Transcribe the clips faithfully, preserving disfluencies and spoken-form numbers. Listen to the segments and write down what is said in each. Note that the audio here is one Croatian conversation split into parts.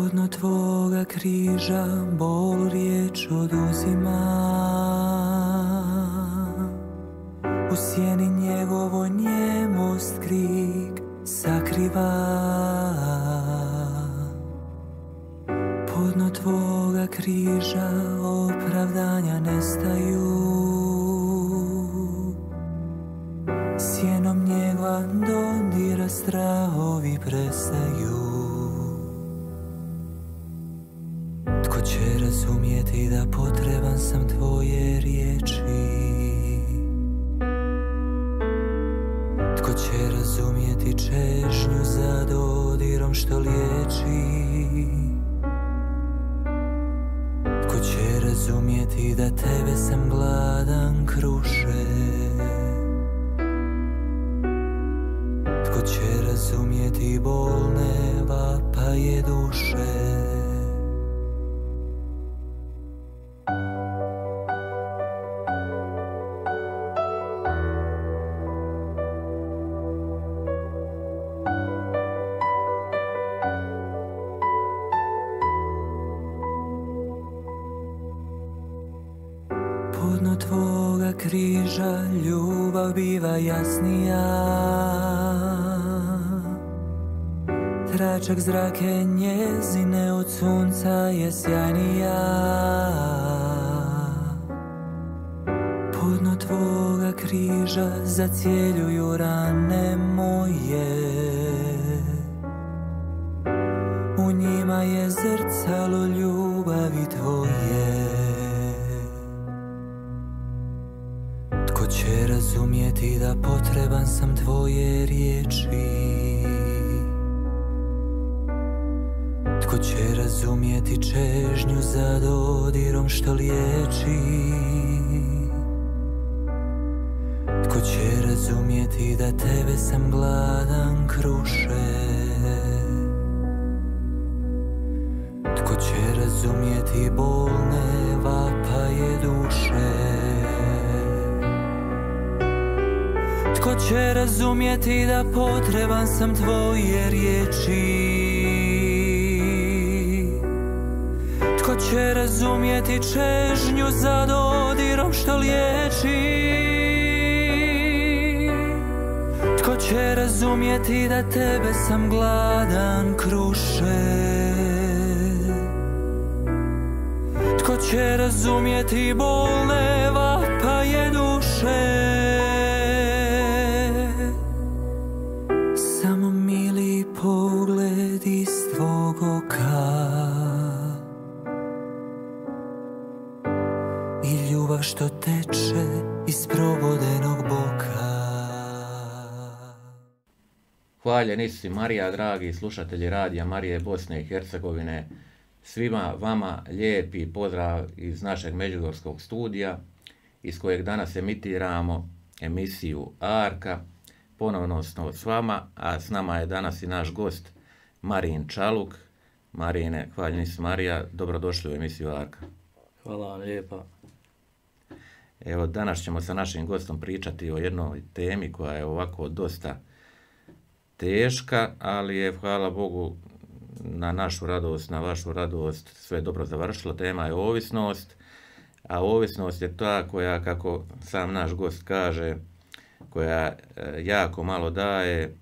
Podno tvoga križa bol riječ oduzima, u sjeni njegovoj njemost krik sakriva. Podno tvoga križa opravdanja nestaju, sjenom njegova dodira strahovi prestaju. Tko će razumjeti da potreban sam tvoje riječi? Tko će razumjeti čežnju za dodirom što liječi? Tko će razumjeti da tebe sam gladan kruše? Tko će razumjeti bolne vapaje duše? Podno tvoga križa ljubav biva jasnija, tračak zrake njezine od sunca je sjajnija. Podno tvoga križa zacjeljuju rane moje, u njima je zrcalo ljubavi tvoje. Tko će razumjeti da potreban sam tvoje riječi? Tko će razumjeti čežnju za dodirom što liječi? Tko će razumjeti da tebe sam gladan kruše? Tko će razumjeti bolne vapaje duše? Tko će razumjeti da potreban sam tvoje riječi? Tko će razumjeti čežnju za dodirom što liječi? Tko će razumjeti da tebe sam gladan kruše? Tko će razumjeti bolne vapaje duše? Samo mili pogled iz tvog oka i ljubav što teče iz probodenog boka. Hvaljen Isus Marija, dragi slušatelji radija Marije Bosne i Hercegovine. Svima vama lijepi pozdrav iz našeg međugorskog studija, iz kojeg danas emitiramo emisiju Arka. Ponovno smo s vama, a s nama je danas i naš gost Marin Čaluk. Marine, hvaljen Isus Marija, dobrodošli u emisiju Arka. Hvala vam lijepa. Evo, danas ćemo sa našim gostom pričati o jednoj temi koja je ovako dosta teška, ali je, hvala Bogu, na našu radost, na vašu radost, sve dobro završilo. Tema je ovisnost, a ovisnost je ta koja, kako sam naš gost kaže, koja jako malo daje,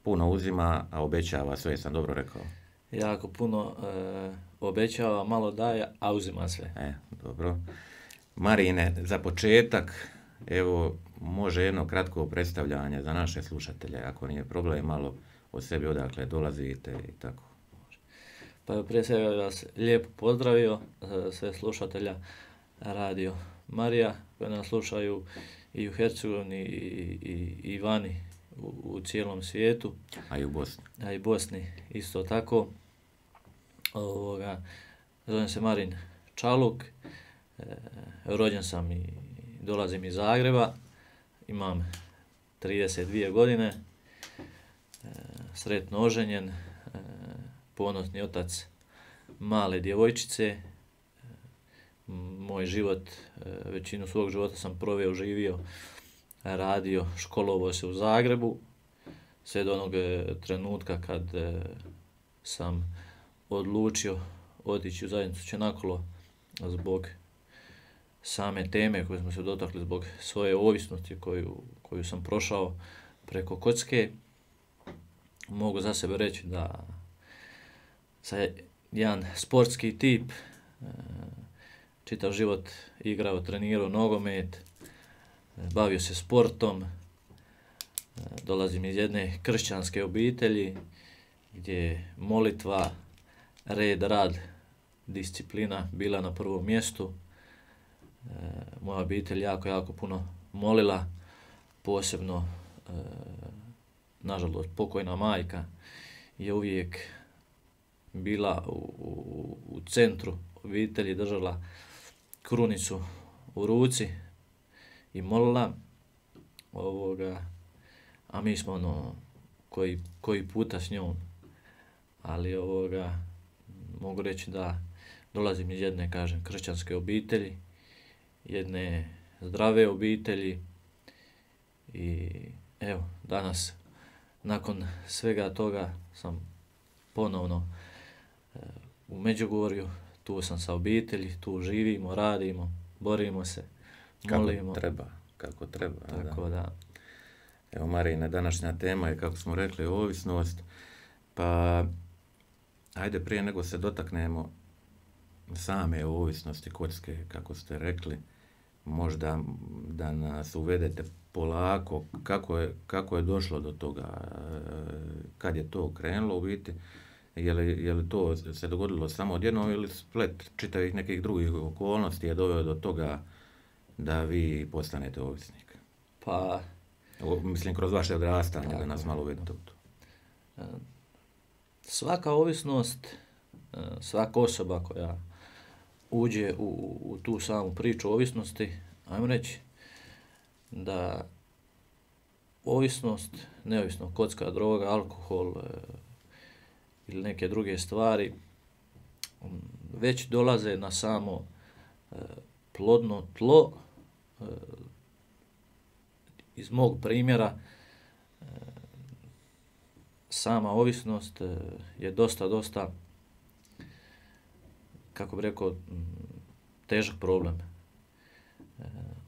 puno uzima, a obećava, sve sam dobro rekao. Jako puno e, obećava, malo daje, a uzima sve. E, dobro. Marine, za početak, evo, može jedno kratko predstavljanje za naše slušatelje, ako nije problem, malo o sebi odakle dolazite i tako. Pa prije svega vas lijepo pozdravio, sve slušatelja Radio Marija, koji nas slušaju i u Hercegovini i, i, i vani u, u cijelom svijetu. A i u Bosni. A i Bosni isto tako. Ovoga, zovem se Marin Čaluk, e, rođen sam i dolazim iz Zagreba, imam trideset dvije godine, e, sretno oženjen, e, ponosni otac male djevojčice. E, moj život, e, većinu svog života sam proveo, živio, radio, školovao se u Zagrebu, sve do onog trenutka kad e, sam odlučio otići u zajednicu Čenakolo zbog same teme koju smo se dotakli, zbog svoje ovisnosti koju, koju sam prošao preko kocke. Mogu za sebe reći da sam jedan sportski tip, čitav život igrao, trenirao nogomet, bavio se sportom, dolazim iz jedne kršćanske obitelji gdje je molitva, red, rad, disciplina bila na prvom mjestu. Moja obitelj jako, jako puno molila, posebno, nažalost, pokojna majka je uvijek bila u, u, u centru obitelji, držala krunicu u ruci i molila ovoga, a mi smo ono koji, koji puta s njom, ali ovoga mogu reći da dolazim iz jedne, kažem, kršćanske obitelji, jedne zdrave obitelji i evo, danas nakon svega toga sam ponovno e, u Međugorju, tu sam sa obitelji, tu živimo, radimo, borimo se, molimo. Kako treba, kako treba. Tako da. da. Evo, Marine, današnja tema je, kako smo rekli, ovisnost, pa ajde prije nego se dotaknemo same ovisnosti kocke, kako ste rekli, možda da nas uvedete polako, kako je, kako je došlo do toga, kad je to krenulo u biti, je li, je li to se dogodilo samo odjednom ili splet čitavih nekih drugih okolnosti je doveo do toga da vi postanete ovisnik? Pa... O, mislim, kroz vaše odrastanje, tako, da nas malo uvedete u to. Svaka ovisnost, svaka osoba koja uđe u, u tu samu priču ovisnosti, ajmo reći da ovisnost, neovisno kocka, droga, alkohol e, ili neke druge stvari, već dolaze na samo e, plodno tlo. E, iz mog primjera, e, sama ovisnost e, je dosta, dosta, kako bih rekao, težak problem. E,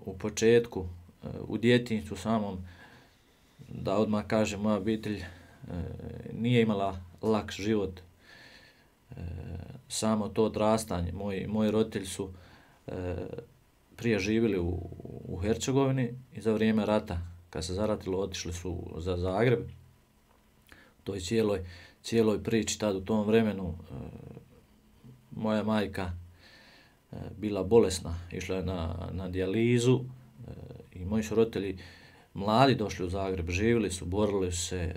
u početku, e, u djetinjstvu samom, da odmah kažem, moja obitelj e, nije imala lak život. E, samo to odrastanje, moji, moji roditelji su e, prije živjeli u, u Hercegovini i za vrijeme rata, kad se zaratilo, otišli su za Zagreb. U toj cijeloj, cijeloj priči tad u tom vremenu e, moja majka e, bila bolesna, išla je na, na dijalizu e, i moji su roditelji mladi došli u Zagreb, živjeli su, borili su se, e,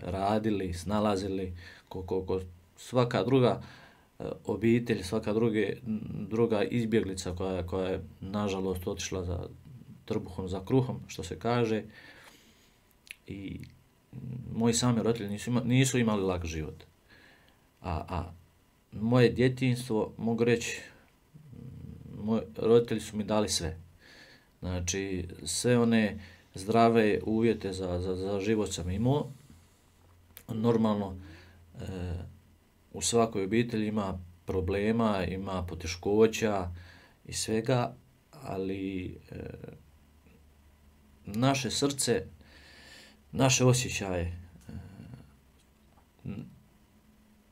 radili, snalazili, ko, ko svaka druga e, obitelj, svaka druge, druga izbjeglica koja, koja je nažalost otišla za trbuhom, za kruhom, što se kaže. I moji sami roditelji nisu, ima, nisu imali lak život. A, a moje djetinjstvo, mogu reći, moji roditelji su mi dali sve. Znači, sve one zdrave uvjete za, za, za život sam imao. Normalno, e, u svakoj obitelji ima problema, ima poteškoća i svega, ali e, naše srce, naše osjećaje e,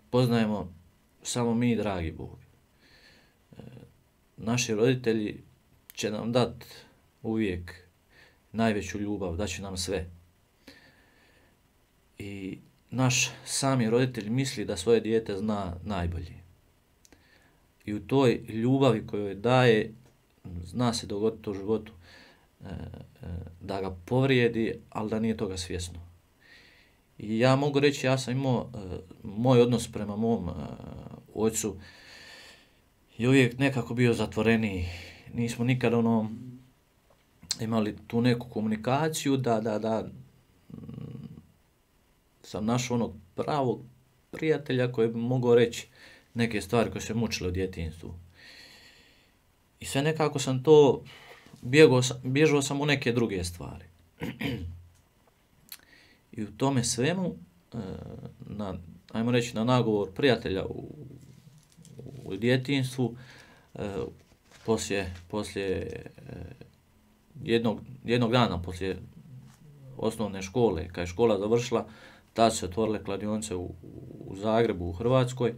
poznajemo samo mi, dragi Bog. E, naši roditelji će nam dati uvijek najveću ljubav, daće nam sve. I naš sami roditelj misli da svoje dijete zna najbolje. I u toj ljubavi koju daje, zna se dogoditi u životu, e, e, da ga povrijedi, ali da nije toga svjesno. I ja mogu reći, ja sam imao, e, moj odnos prema mom e, ocu je uvijek nekako bio zatvoreniji. Nismo nikad ono imali tu neku komunikaciju da, da, da sam našao onog pravog prijatelja koji bi mogao reći neke stvari koje se mučile u djetinjstvu. I sve nekako sam to, bjegao sam, bježao sam u neke druge stvari. I u tome svemu, na, ajmo reći, na nagovor prijatelja u, u djetinjstvu, e, poslije, poslije e, jednog, jednog dana, poslije osnovne škole, kad je škola završila, tad su se otvorile kladionice u, u Zagrebu, u Hrvatskoj,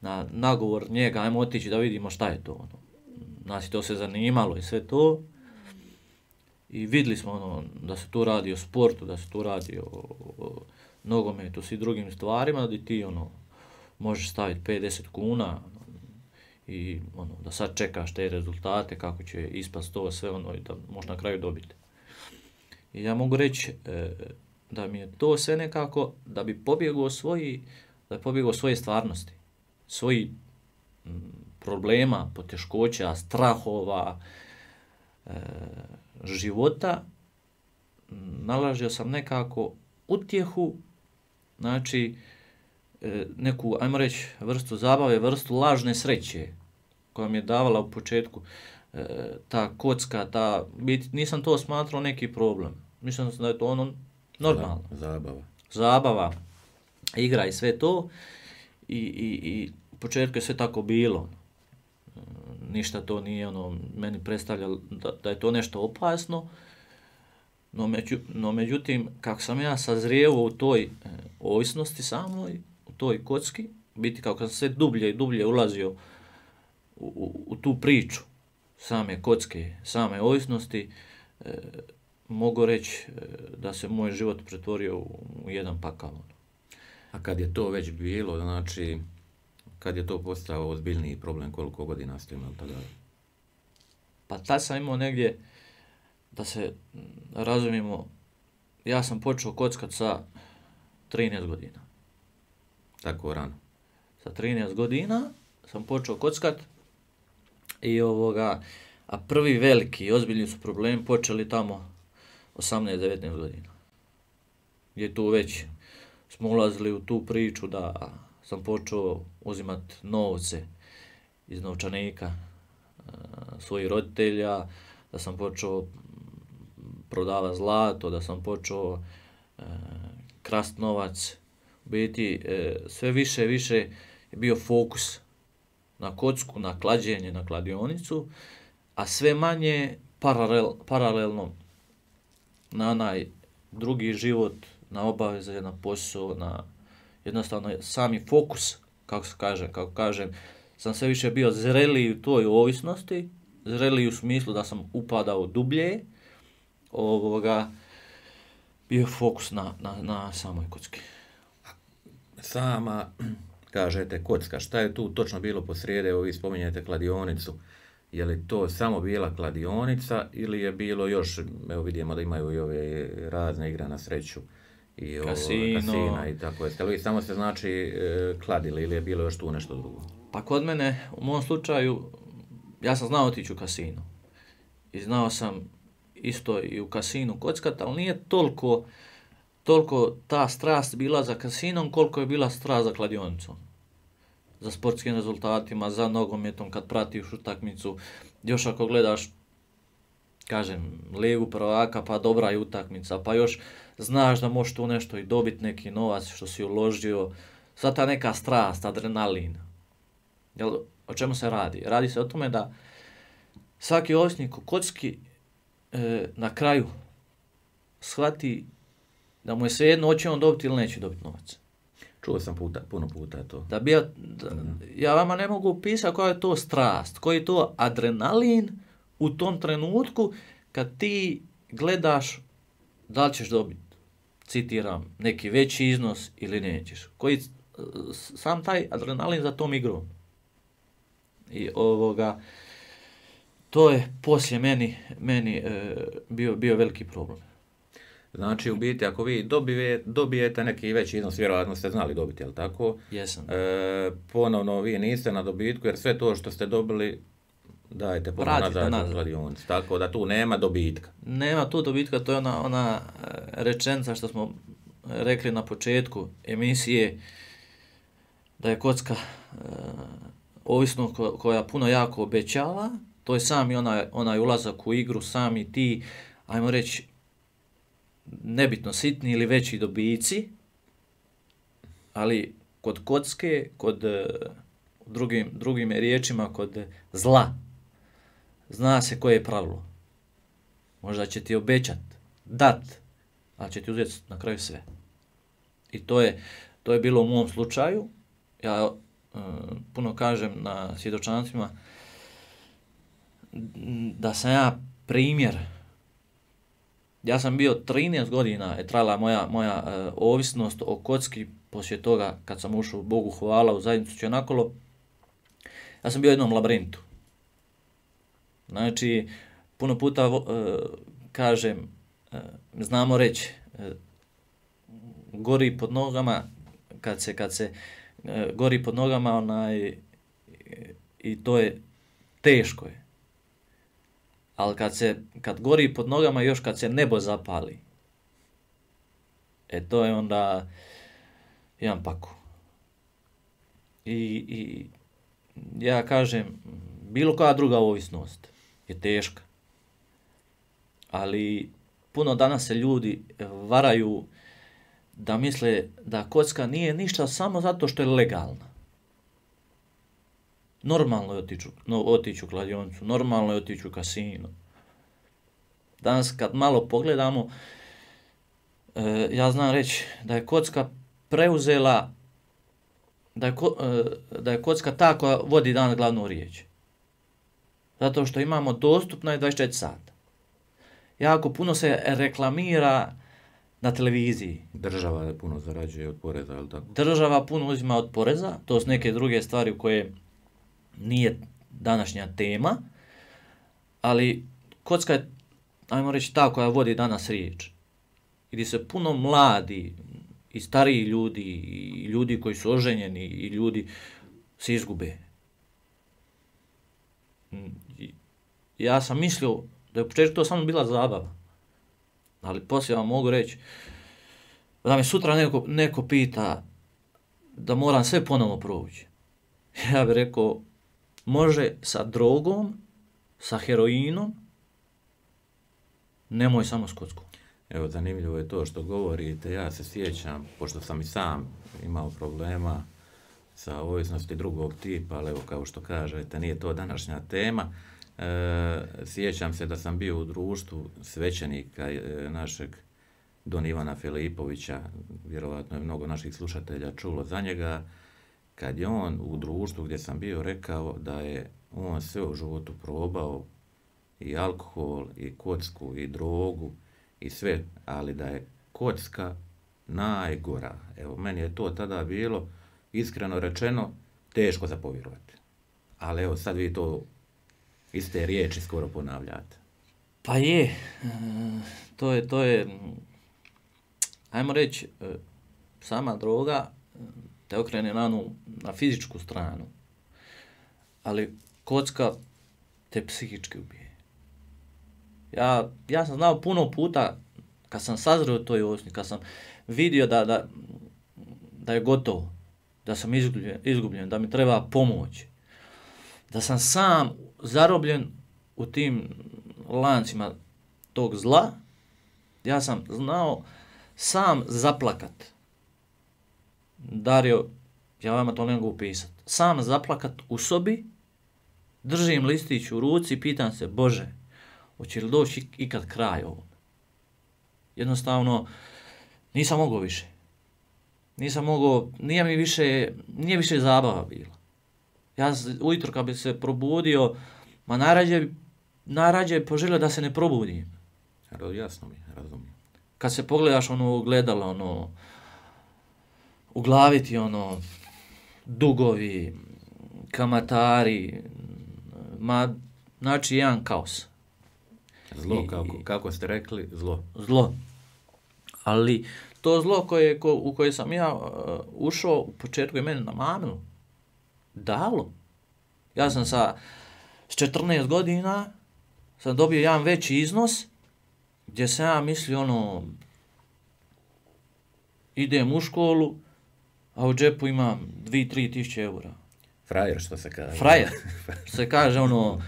na nagovor njega, ajmo otići da vidimo šta je to. Ono. Nas je to se zanimalo i sve to. I vidjeli smo ono, da se tu radi o sportu, da se tu radi o, o nogometu, svi drugim stvarima, da ti ono, možeš staviti pedeset kuna i ono, da sad čekaš te rezultate, kako će ispast to sve ono i da možeš na kraju dobiti. I ja mogu reći e, da mi je to sve nekako, da bi pobjegao svoji, da bi pobjegao svoje stvarnosti, svoji m, problema, poteškoća, strahova, e, života, nalazio sam nekako utjehu, znači e, neku, ajmo reći, vrstu zabave, vrstu lažne sreće koja mi je davala u početku e, ta kocka, ta, bit, nisam to smatrao neki problem. Mislim da je to ono normalno. Zabava. Zabava, igra i sve to. I, i, i u početku je sve tako bilo. E, ništa to nije ono, meni predstavljalo da, da je to nešto opasno. No, među, no međutim, kako sam ja sazrijevao u toj e, ovisnosti samoj, u toj kocki, biti kako sam sve dublje i dublje ulazio u, u, u tu priču same kocke, same ovisnosti, e, mogu reći e, da se moj život pretvorio u, u jedan pakao. A kad je to već bilo, znači, kad je to postao ozbiljniji problem, koliko godina ste imali tada? Pa tad sam imao negdje, da se razumijemo, ja sam počeo kockat sa trinaest godina. Tako rano? Sa trinaest godina sam počeo kockat i ovoga, a prvi veliki, ozbiljni su problemi počeli tamo osamnaest devetnaest godina. Gdje tu već smo ulazili u tu priču da sam počeo uzimati novce iz novčanika svojih roditelja, da sam počeo prodavati zlato, da sam počeo e, krast novac. U biti e, sve više i više je bio fokus na kocku, na klađenje, na kladionicu, a sve manje paralel, paralelno na onaj drugi život, na obaveze, na posao, na jednostavno sami fokus, kako se kaže, kako kažem, sam sve više bio zreliji u toj ovisnosti, zreliji u smislu da sam upadao dublje, ovoga, bio fokus na, na, na samoj kocki. Sama, kažete, kocka, šta je tu točno bilo posrijede, evo vi spominjete kladionicu, je li to samo bila kladionica ili je bilo još, evo vidimo da imaju i ove razne igre na sreću i Kasino. Kasina i tako je. Jeste li vi samo se znači e, kladili ili je bilo još tu nešto drugo? Pa kod mene, u mom slučaju, ja sam znao otići u kasino. I znao sam isto i u kasinu kockat, ali nije toliko, toliko ta strast bila za kasinom koliko je bila strast za kladionicom. Za sportskim rezultatima, za nogometom kad pratiš utakmicu. Još ako gledaš, kažem, ligu prvaka, pa dobra je utakmica, pa još znaš da možeš tu nešto i dobiti neki novac što si uložio. Sva ta neka strast, adrenalin. Jel, o čemu se radi? Radi se o tome da svaki ovisnik u kocki e, na kraju shvati da mu je svejedno hoće on dobiti ili neće dobiti novac. Čuo sam puta, puno puta to. Da bi ja, da, ja vama ne mogu opisati koja je to strast, koji je to adrenalin u tom trenutku kad ti gledaš da li ćeš dobiti, citiram, neki veći iznos ili nećeš. Koji, sam taj adrenalin za tom igrom. I ovoga, to je poslije meni, meni e, bio, bio veliki problem. Znači, u biti, ako vi dobije, dobijete neki veći iznos, vjerojatno ste znali dobiti, jel tako? Jesam. E, ponovno, vi niste na dobitku, jer sve to što ste dobili dajete ponovno nazad u kladionicu. Tako da tu nema dobitka. Nema tu dobitka, to je ona, ona rečenica što smo rekli na početku emisije, da je kocka e, ovisno ko, koja puno jako obećava, to je sami onaj, onaj ulazak u igru, sami ti, ajmo reći, nebitno sitni ili veći dobici, ali kod kocke, kod drugim, drugim riječima, kod zla, zna se koje je pravilo. Možda će ti obećat, dat, ali će ti uzeti na kraju sve. I to je, to je bilo u mom slučaju. Ja uh, puno kažem na svjedočanstvima da sam ja primjer. Ja sam bio trinaest godina je trajala moja, moja uh, ovisnost o kocki, poslije toga kad sam ušao Bogu hvala u zajednicu Čenakolo, ja sam bio u jednom labirintu. Znači, puno puta uh, kažem, uh, znamo reći, uh, gori pod nogama, kad se, kad se uh, gori pod nogama, onaj, i to je teško je. Ali kad se, kad gori pod nogama, još kad se nebo zapali, e to je onda jedan paku. I, i ja kažem, bilo koja druga ovisnost je teška. Ali puno danas se ljudi varaju da misle da kocka nije ništa samo zato što je legalna. Normalno je otići, no, otići u kladionicu, normalno je otići u kasino. Danas kad malo pogledamo, e, ja znam reći da je kocka preuzela, da je, ko, e, da je kocka ta koja vodi danas glavnu riječ. Zato što imamo dostupno je dvadeset četiri sata. Jako puno se reklamira na televiziji. Država je puno zarađuje od poreza, je li tako? Država puno uzima od poreza, to su neke druge stvari u koje nije današnja tema, ali kocka je, ajmo reći, ta koja vodi danas riječ. Gdje se puno mladi i stariji ljudi, i ljudi koji su oženjeni, i ljudi se izgube. Ja sam mislio da je u početku to samo bila zabava, ali poslije vam mogu reći da me sutra neko, neko pita da moram sve ponovo proći. Ja bih rekao, može sa drogom, sa heroinom, nemoj samo s kockom. Evo, zanimljivo je to što govorite. Ja se sjećam, pošto sam i sam imao problema sa ovisnosti drugog tipa, ali evo, kao što kažete, nije to današnja tema. E, sjećam se da sam bio u društvu svećenika e, našeg Don Ivana Filipovića, vjerovatno je mnogo naših slušatelja čulo za njega, kad je on u društvu gdje sam bio rekao da je on sve u životu probao, i alkohol, i kocku, i drogu, i sve, ali da je kocka najgora. Evo, meni je to tada bilo, iskreno rečeno, teško za povjerovati. Ali evo, sad vi to iste riječi skoro ponavljate. Pa je, e, to je, to je, ajmo reći, e, sama droga te okrene na, nu, na fizičku stranu, ali kocka te psihički ubije. Ja, ja sam znao puno puta, kad sam sazreo toj ovisnosti, kad sam vidio da, da, da je gotovo, da sam izgubljen, izgubljen, da mi treba pomoć, da sam sam zarobljen u tim lancima tog zla, ja sam znao sam zaplakat. Dario, ja vama to ne mogu upisati. Sam zaplakat u sobi, držim listić u ruci i pitam se, Bože, hoće li doći ikad kraj ovom? Jednostavno, nisam mogao više. Nisam mogao, nije mi više, nije više zabava bila. Ja ujutro kad bi se probudio, ma najrađe, najrađe poželio da se ne probudim. Jasno mi, razumijem. Kad se pogledaš ono gledalo, ono, u glavi ti ono, dugovi, kamatari, ma, znači jedan kaos. Zlo, kako, kako ste rekli, zlo. Zlo. Ali to zlo koje, ko, u koje sam ja uh, ušao, u početku je mene namamilo. Dalo. Ja sam sa s četrnaest godina sam dobio jedan veći iznos gdje sam ja mislio ono, idem u školu, a u džepu imam dvije do tri tisuće eura. Frajer, što se kaže. Frajer. Što se kaže ono,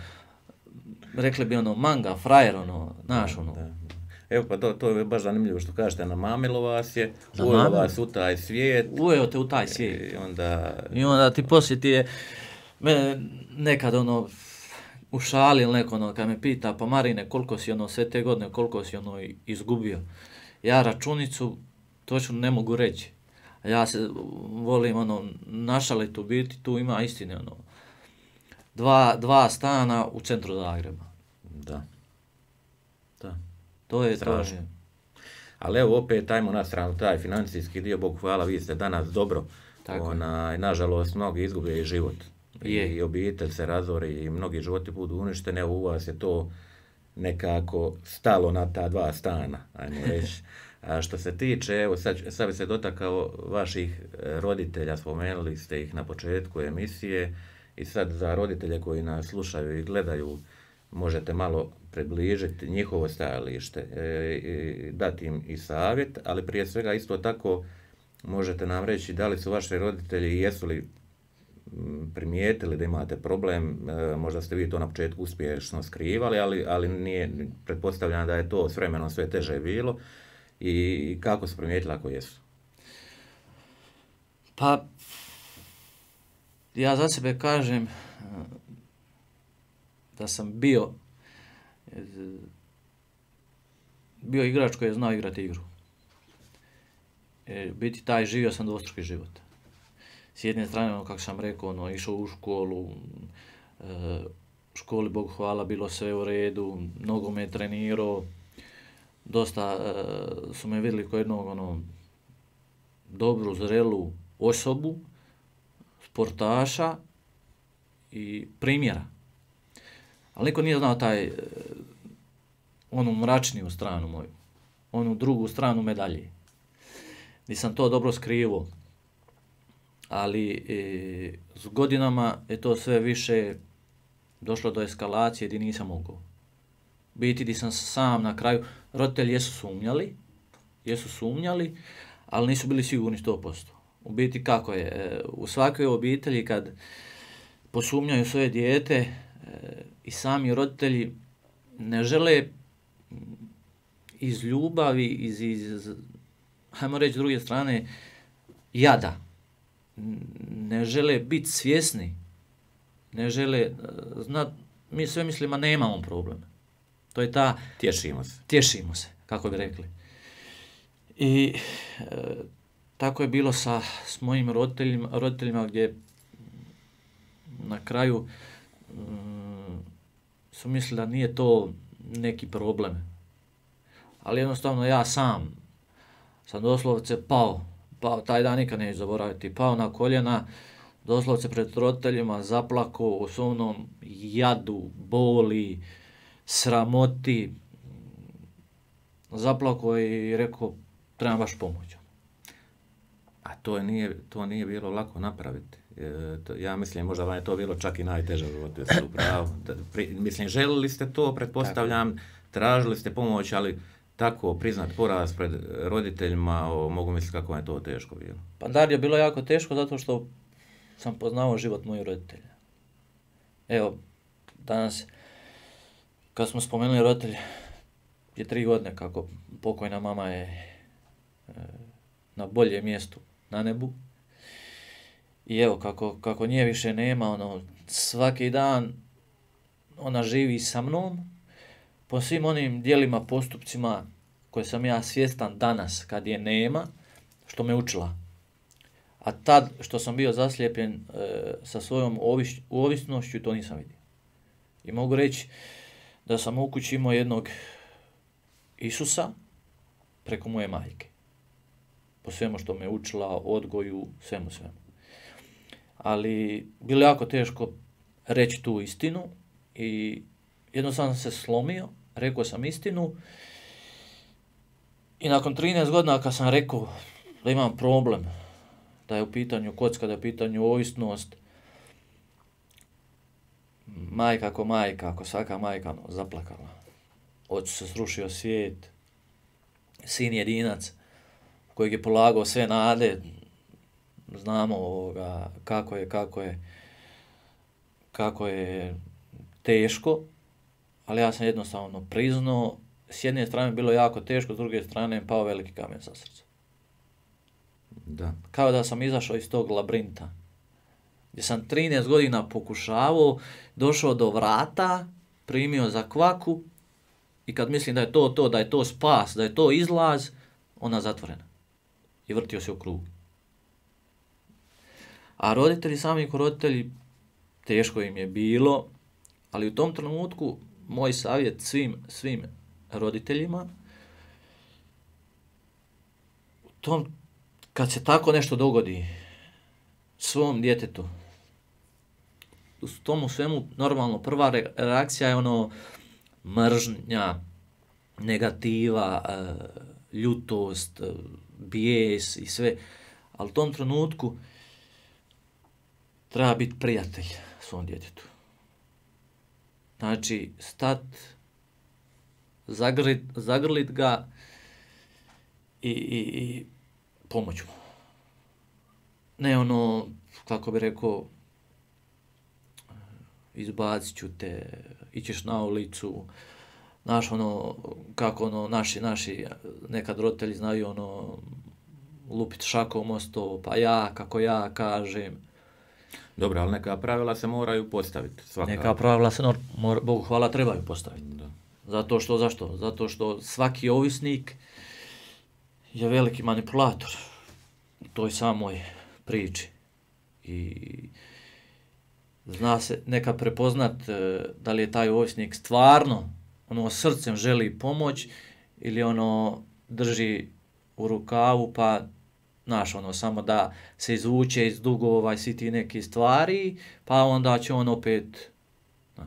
rekli bi ono, manga, frajer, ono, znaš ono. Da, da. Evo pa to, to je baš zanimljivo što kažete, namamilo vas je, ujelo vas u taj svijet. Ujeo te u taj svijet. I onda... I onda ti poslije ti je, me nekad ono, u šali ili neko ono, kad me pita, pa Marine, koliko si ono, sve te godine, koliko si ono izgubio? Ja računicu točno ne mogu reći. Ja se volim ono, našaliti u biti, tu ima istine ono. Dva, dva stana u centru Zagreba. Da. Da. To je strašno. To. Ali evo opet, ajmo na stranu taj financijski dio, Bogu hvala, vi ste danas dobro. Tako Ona, nažalost, mnogi izgube i život. Je. I obitelj se razori i mnogi životi budu uništene, u vas je to nekako stalo na ta dva stana, ajmo reći. A što se tiče, evo sad, sad bi se dotakao vaših roditelja, spomenuli ste ih na početku emisije i sad za roditelje koji nas slušaju i gledaju, možete malo približiti njihovo stajalište, e, dati im i savjet, ali prije svega isto tako možete nam reći da li su vaši roditelji i jesu li primijetili da imate problem, e, možda ste vi to na početku uspješno skrivali, ali, ali nije, pretpostavljam da je to s vremenom sve teže bilo i kako su primijetili ako jesu? Pa, ja za sebe kažem da sam bio bio igrač koji je znao igrati igru. E, biti taj, živio sam dvostruki život. S jedne strane, ono, kako sam rekao, ono, išao u školu, e, školi, Bogu hvala, bilo sve u redu, mnogo me trenirao, dosta e, su me vidjeli kao jednog, ono, dobru, zrelu osobu, sportaša i primjera. Ali niko nije znao taj, e, onu mračniju stranu moju, onu drugu stranu medalje. Nisam to dobro skrivao, ali e, s godinama je to sve više došlo do eskalacije gdje nisam mogao. Biti gdje sam sam na kraju, roditelji jesu sumnjali, jesu sumnjali, ali nisu bili sigurni sto posto. U biti kako je, e, u svakoj obitelji kad posumnjaju svoje dijete e, i sami roditelji ne žele iz ljubavi, iz, iz hajmo reći s druge strane, jada. Ne žele biti svjesni, ne žele znat, mi sve mislimo nemamo probleme. To je ta... Tješimo se. Tješimo se, kako bi rekli. I e, tako je bilo sa s mojim roditeljima, roditeljima gdje na kraju mm, su mislili da nije to neki problem. Ali jednostavno ja sam sam doslovce pao, pao, taj dan nikad neću zaboraviti, pao na koljena, doslovce pred roditeljima, zaplakao u svojom jadu, boli, sramoti, zaplakao i rekao, trebam baš pomoć. A to nije, to nije bilo lako napraviti. E, to, ja mislim, možda vam je to bilo čak i najteže u životu, jeste upravo. Mislim, želili ste to, pretpostavljam, tako. Tražili ste pomoć, ali tako priznat poraz pred roditeljima, o, mogu misliti kako je to teško bilo. Pa Dario, bilo jako teško zato što sam poznao život mojih roditelja. Evo, danas, kad smo spomenuli roditelj, je tri godine kako pokojna mama je e, na boljem mjestu na nebu. I evo, kako, kako nje više nema, ono, svaki dan ona živi sa mnom, po svim onim dijelima, postupcima koje sam ja svjestan danas kad je nema, što me učila. A tad što sam bio zaslijepljen e, sa svojom oviš, ovisnošću, to nisam vidio. I mogu reći da sam u kući imao jednog Isusa preko moje majke. Po svemu što me učila, odgoju, svemu svemu. Ali bilo je jako teško reći tu istinu i jednostavno sam se slomio, rekao sam istinu i nakon trinaest godina kad sam rekao da imam problem, da je u pitanju kocka, da je u pitanju ovisnost, majka ako majka, ako svaka majka, no, zaplakala. Ocu se srušio svijet, sin jedinac kojeg je polagao sve nade, znamo ovoga, kako je, kako je, kako je teško, ali ja sam jednostavno priznao s jedne strane bilo jako teško, s druge strane pao veliki kamen sa srca. Da. Kao da sam izašao iz tog labirinta, gdje sam trinaest godina pokušavao, došao do vrata, primio za kvaku i kad mislim da je to to, da je to spas, da je to izlaz, ona zatvorena. I vrtio se u krug. A roditelji, sami ko roditelji, teško im je bilo, ali u tom trenutku moj savjet svim, svim roditeljima, u tom, kad se tako nešto dogodi svom djetetu, u tomu svemu normalno prva reakcija je ono mržnja, negativa, ljutost, bijes i sve, ali u tom trenutku treba biti prijatelj svom djetetu. Znači, stat, zagrlit, zagrlit ga i, i, i pomoć mu. Ne ono, kako bi rekao, izbacit ću te, ićeš na ulicu, znaš ono, kako ono, naši, naši, nekad roditelji znaju ono, lupit šakom o sto, pa ja, kako ja kažem. Dobro, ali neka pravila se moraju postaviti. Svaka. Neka pravila se, mora, Bogu hvala, trebaju postaviti. Da. Zato što, zašto? Zato što svaki ovisnik je veliki manipulator u toj samoj priči. I zna se nekad prepoznat da li je taj ovisnik stvarno ono srcem želi pomoć ili ono drži u rukavu pa znaš ono samo da se izvuče iz dugova i svi ti neke stvari pa onda će on opet. Da.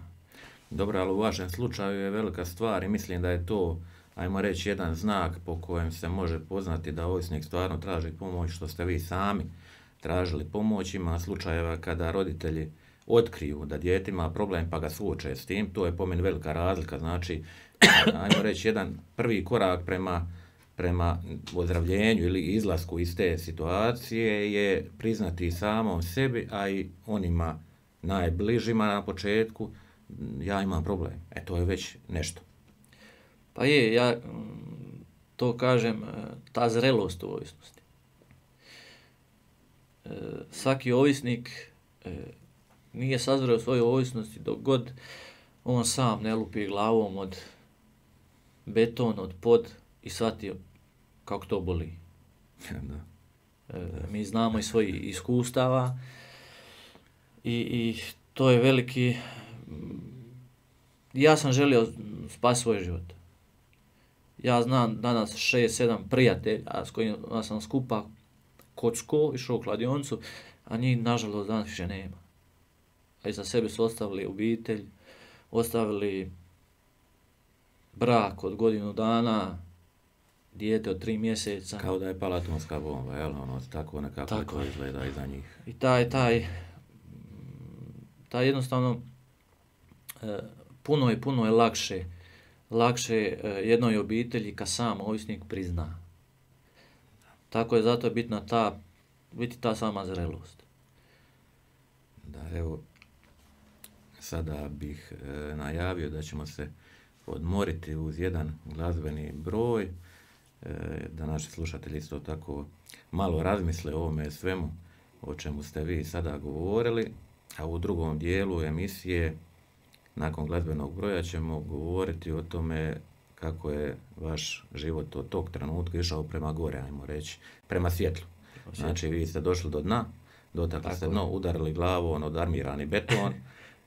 Dobro, ali u vašem slučaju je velika stvar i mislim da je to, ajmo reći, jedan znak po kojem se može poznati da ovisnik stvarno traži pomoć, što ste vi sami tražili pomoć. Ima slučajeva kada roditelji otkriju da dijete ima problem pa ga suoče s tim, to je po meni velika razlika, znači, ajmo reći, jedan prvi korak prema, prema ozdravljenju ili izlasku iz te situacije je priznati samom sebi, a i onima najbližima na početku, ja imam problem, e to je već nešto. Pa je, ja to kažem, ta zrelost u ovisnosti. Svaki ovisnik nije sazreo svoje ovisnosti dok god on sam ne lupi glavom od beton, od pod i shvatio kako to boli. Da. E, mi znamo iz svojih iskustava i, i to je veliki... Ja sam želio spasiti svoj život. Ja znam danas šest, sedam prijatelja s kojima sam skupa kocko, išao u kladioncu, a njih nažalost danas više nema. A iza sebe su ostavili obitelj, ostavili brak od godinu dana, dijete od tri mjeseca. Kao da je pala atomska bomba, jel? Ono, tako nekako tako to izgleda iza njih. I taj, taj, taj jednostavno, puno je, puno je lakše, lakše jednoj obitelji kad sam ovisnik prizna. Tako je zato je bitna ta, biti ta sama zrelost. Da, evo, sada bih e, najavio da ćemo se odmoriti uz jedan glazbeni broj, e, da naši slušatelji isto tako malo razmisle o ovome svemu o čemu ste vi sada govorili, a u drugom dijelu emisije, nakon glazbenog broja, ćemo govoriti o tome kako je vaš život od tog trenutka išao prema gore, ajmo reći, prema svjetlu. Znači, vi ste došli do dna, dotakli tako ste dno, udarili glavom od armirani beton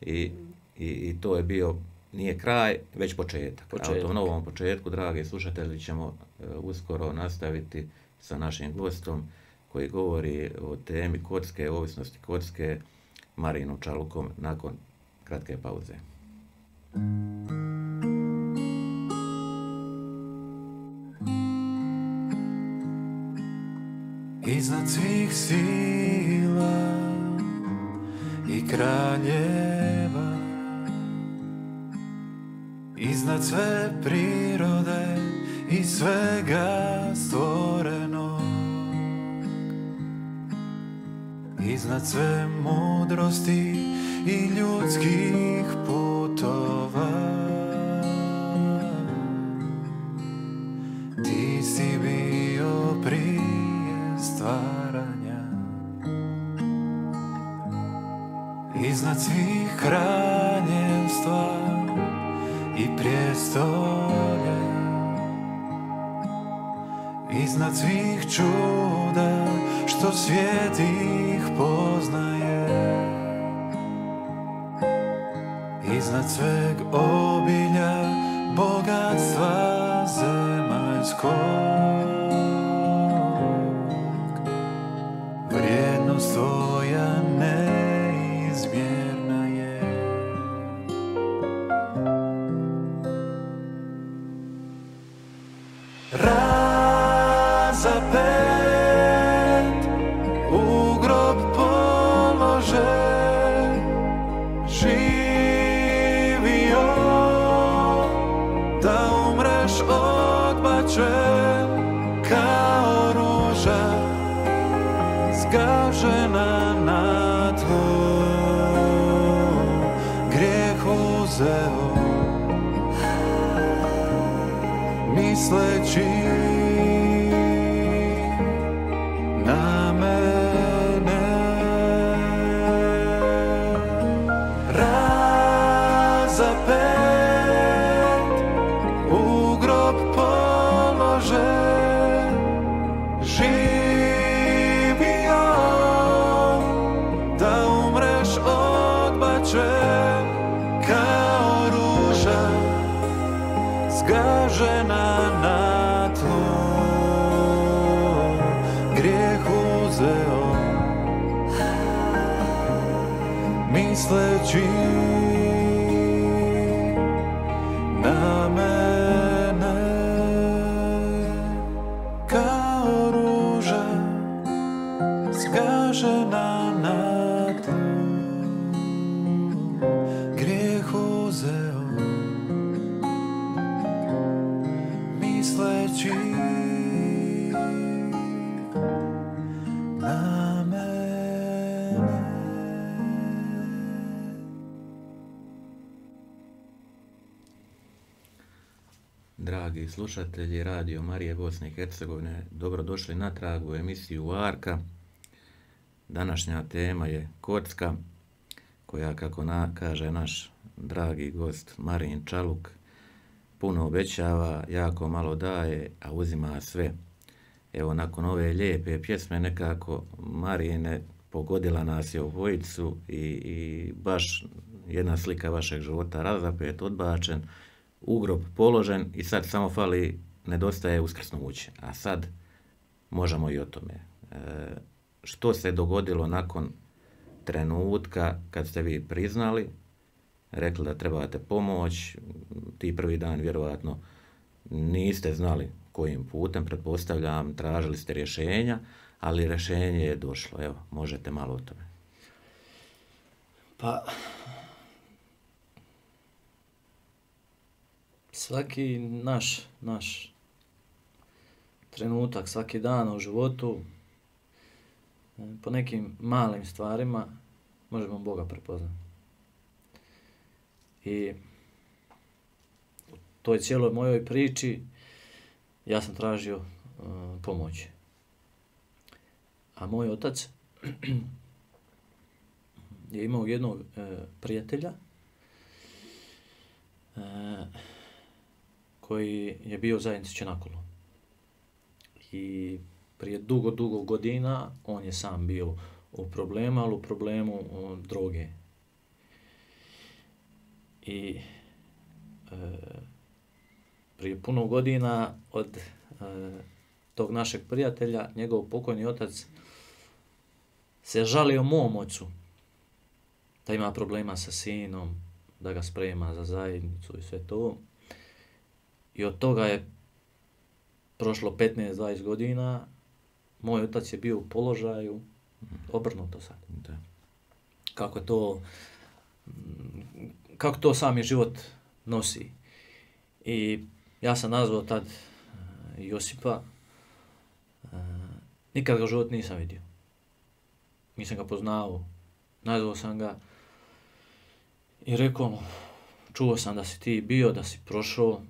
i, i, i to je bio, nije kraj, već početak. početak. A u tom novom početku, dragi slušatelji, ćemo uh, uskoro nastaviti sa našim gostom koji govori o temi kocke, ovisnosti kocke, Marinom Čalukom, nakon kratke pauze. Iznad svih sila i kraljeva, iznad sve prirode i svega stvorenog, iznad sve mudrosti i ljudskih putova, iznad svih kraljevstva i prijestolja, iznad svih čuda što svijet ih poznaje, iznad sveg obilja bogatstva zemaljskog, vrijednost tvoja neizmjerna je. Razapet, u grob polože, živio, da umreš odbačen kao ruža, zgažena na tlu, grijeh uzeo, misleći na mene. Razapet, u grob polože, živio, da umreš odbačen kao ruža, zgažena na tlu, grijeh uzeo, misleći na mene. Kao ruža, zgažena na tlu, grijeh uzeo, misleći na mene. Dragi slušatelji Radio Marije Bosne i Hercegovine, dobrodošli natrag u emisiju Varka. Današnja tema je kocka, koja, kako na, kaže naš dragi gost Marin Čaluk, puno obećava, jako malo daje, a uzima sve. Evo, nakon ove lijepe pjesme nekako Marine pogodila nas je obojicu i, i baš jedna slika vašeg života, razapet, odbačen, u grob položen i sad samo fali, nedostaje uskrsnuće. A sad možemo i o tome. E, što se dogodilo nakon trenutka kad ste vi priznali, rekli da trebate pomoć, ti prvi dan vjerovatno niste znali kojim putem, pretpostavljam, tražili ste rješenja, ali rješenje je došlo. Evo, možete malo o tome. Pa, svaki naš, naš trenutak, svaki dan u životu, po nekim malim stvarima možemo Boga prepoznati. I u toj cijeloj mojoj priči ja sam tražio uh, pomoć. A moj otac je imao jednog uh, prijatelja uh, koji je bio zajednici Čenakulu. I prije dugo, dugo godina on je sam bio u problemu, ali u problemu uh, droge. I e, prije puno godina od e, tog našeg prijatelja, njegov pokojni otac se žalio mom ocu da ima problema sa sinom, da ga sprema za zajednicu i sve to. I od toga je prošlo petnaest dvadeset godina, moj otac je bio u položaju, obrnuto sad. Da. Kako to, kako to sami život nosi. I ja sam nazvao tad Josipa, nikad ga u život nisam vidio. Nisam ga poznao, nazvao sam ga i rekao mu, čuo sam da si ti bio, da si prošao,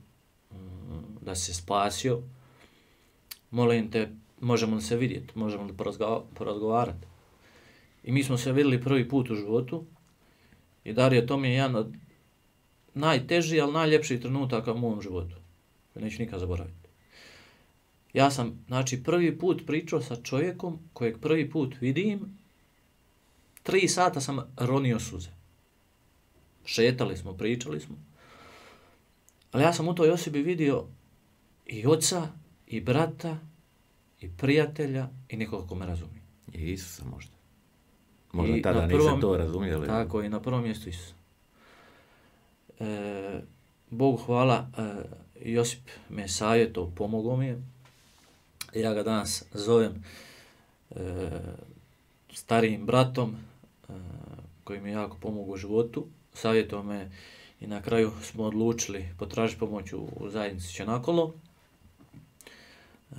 da si se spasio. Molim te, možemo li se vidjeti, možemo li porazgo- porazgovarati. I mi smo se vidjeli prvi put u životu I Dario, to mi je jedan od najtežih, ali najljepših trenutaka u mom životu. Neću nikad zaboraviti. Ja sam, znači, prvi put pričao sa čovjekom kojeg prvi put vidim, tri sata sam ronio suze. Šetali smo, pričali smo. Ali ja sam u toj osobi vidio i oca, i brata, i prijatelja, i nekoga ko me razumije. I Isusa možda. Možda I tada prvom, niste to razumijeli. Tako, i na prvom mjestu Isusa. E, Bogu hvala, e, Josip me savjetao, pomogao mi je. Ja ga danas zovem e, starijim bratom, e, koji mi je jako pomogao u životu. Savjetao me i na kraju smo odlučili potražiti pomoć u, u zajednici Čenakolo, e,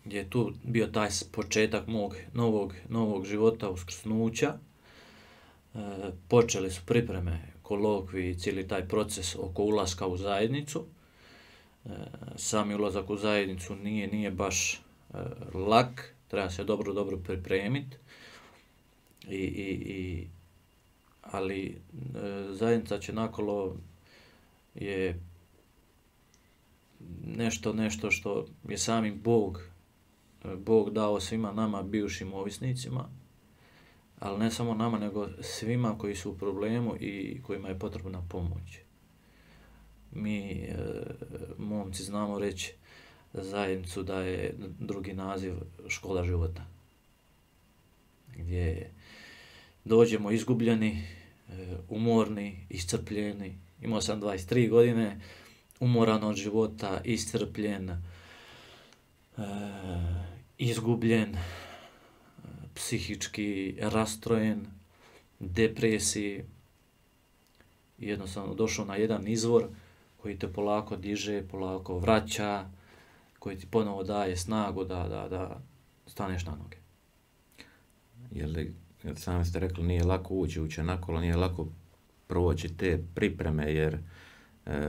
gdje je tu bio taj početak mog novog, novog života, uskrsnuća. E, počeli su pripreme, kolokvi i cijeli taj proces oko ulaska u zajednicu. E, sami ulazak u zajednicu nije, nije baš e, lak, treba se dobro, dobro pripremiti. I, i, i, ali e, zajednica Čenakolo je nešto, nešto što je sami Bog, Bog dao svima nama, bivšim ovisnicima, ali ne samo nama, nego svima koji su u problemu i kojima je potrebna pomoć. Mi, e, momci, znamo reći zajednicu da je drugi naziv škola života, gdje dođemo izgubljeni, e, umorni, iscrpljeni. Imao sam dvadeset tri godine, umoran od života, iscrpljen, e, izgubljen, e, psihički rastrojen, depresiji. Jednostavno došao na jedan izvor koji te polako diže, polako vraća, koji ti ponovo daje snagu da, da, da staneš na noge. Jer, jer sami ste rekli, nije lako ući u Čenakolo, nije lako proći te pripreme, jer e,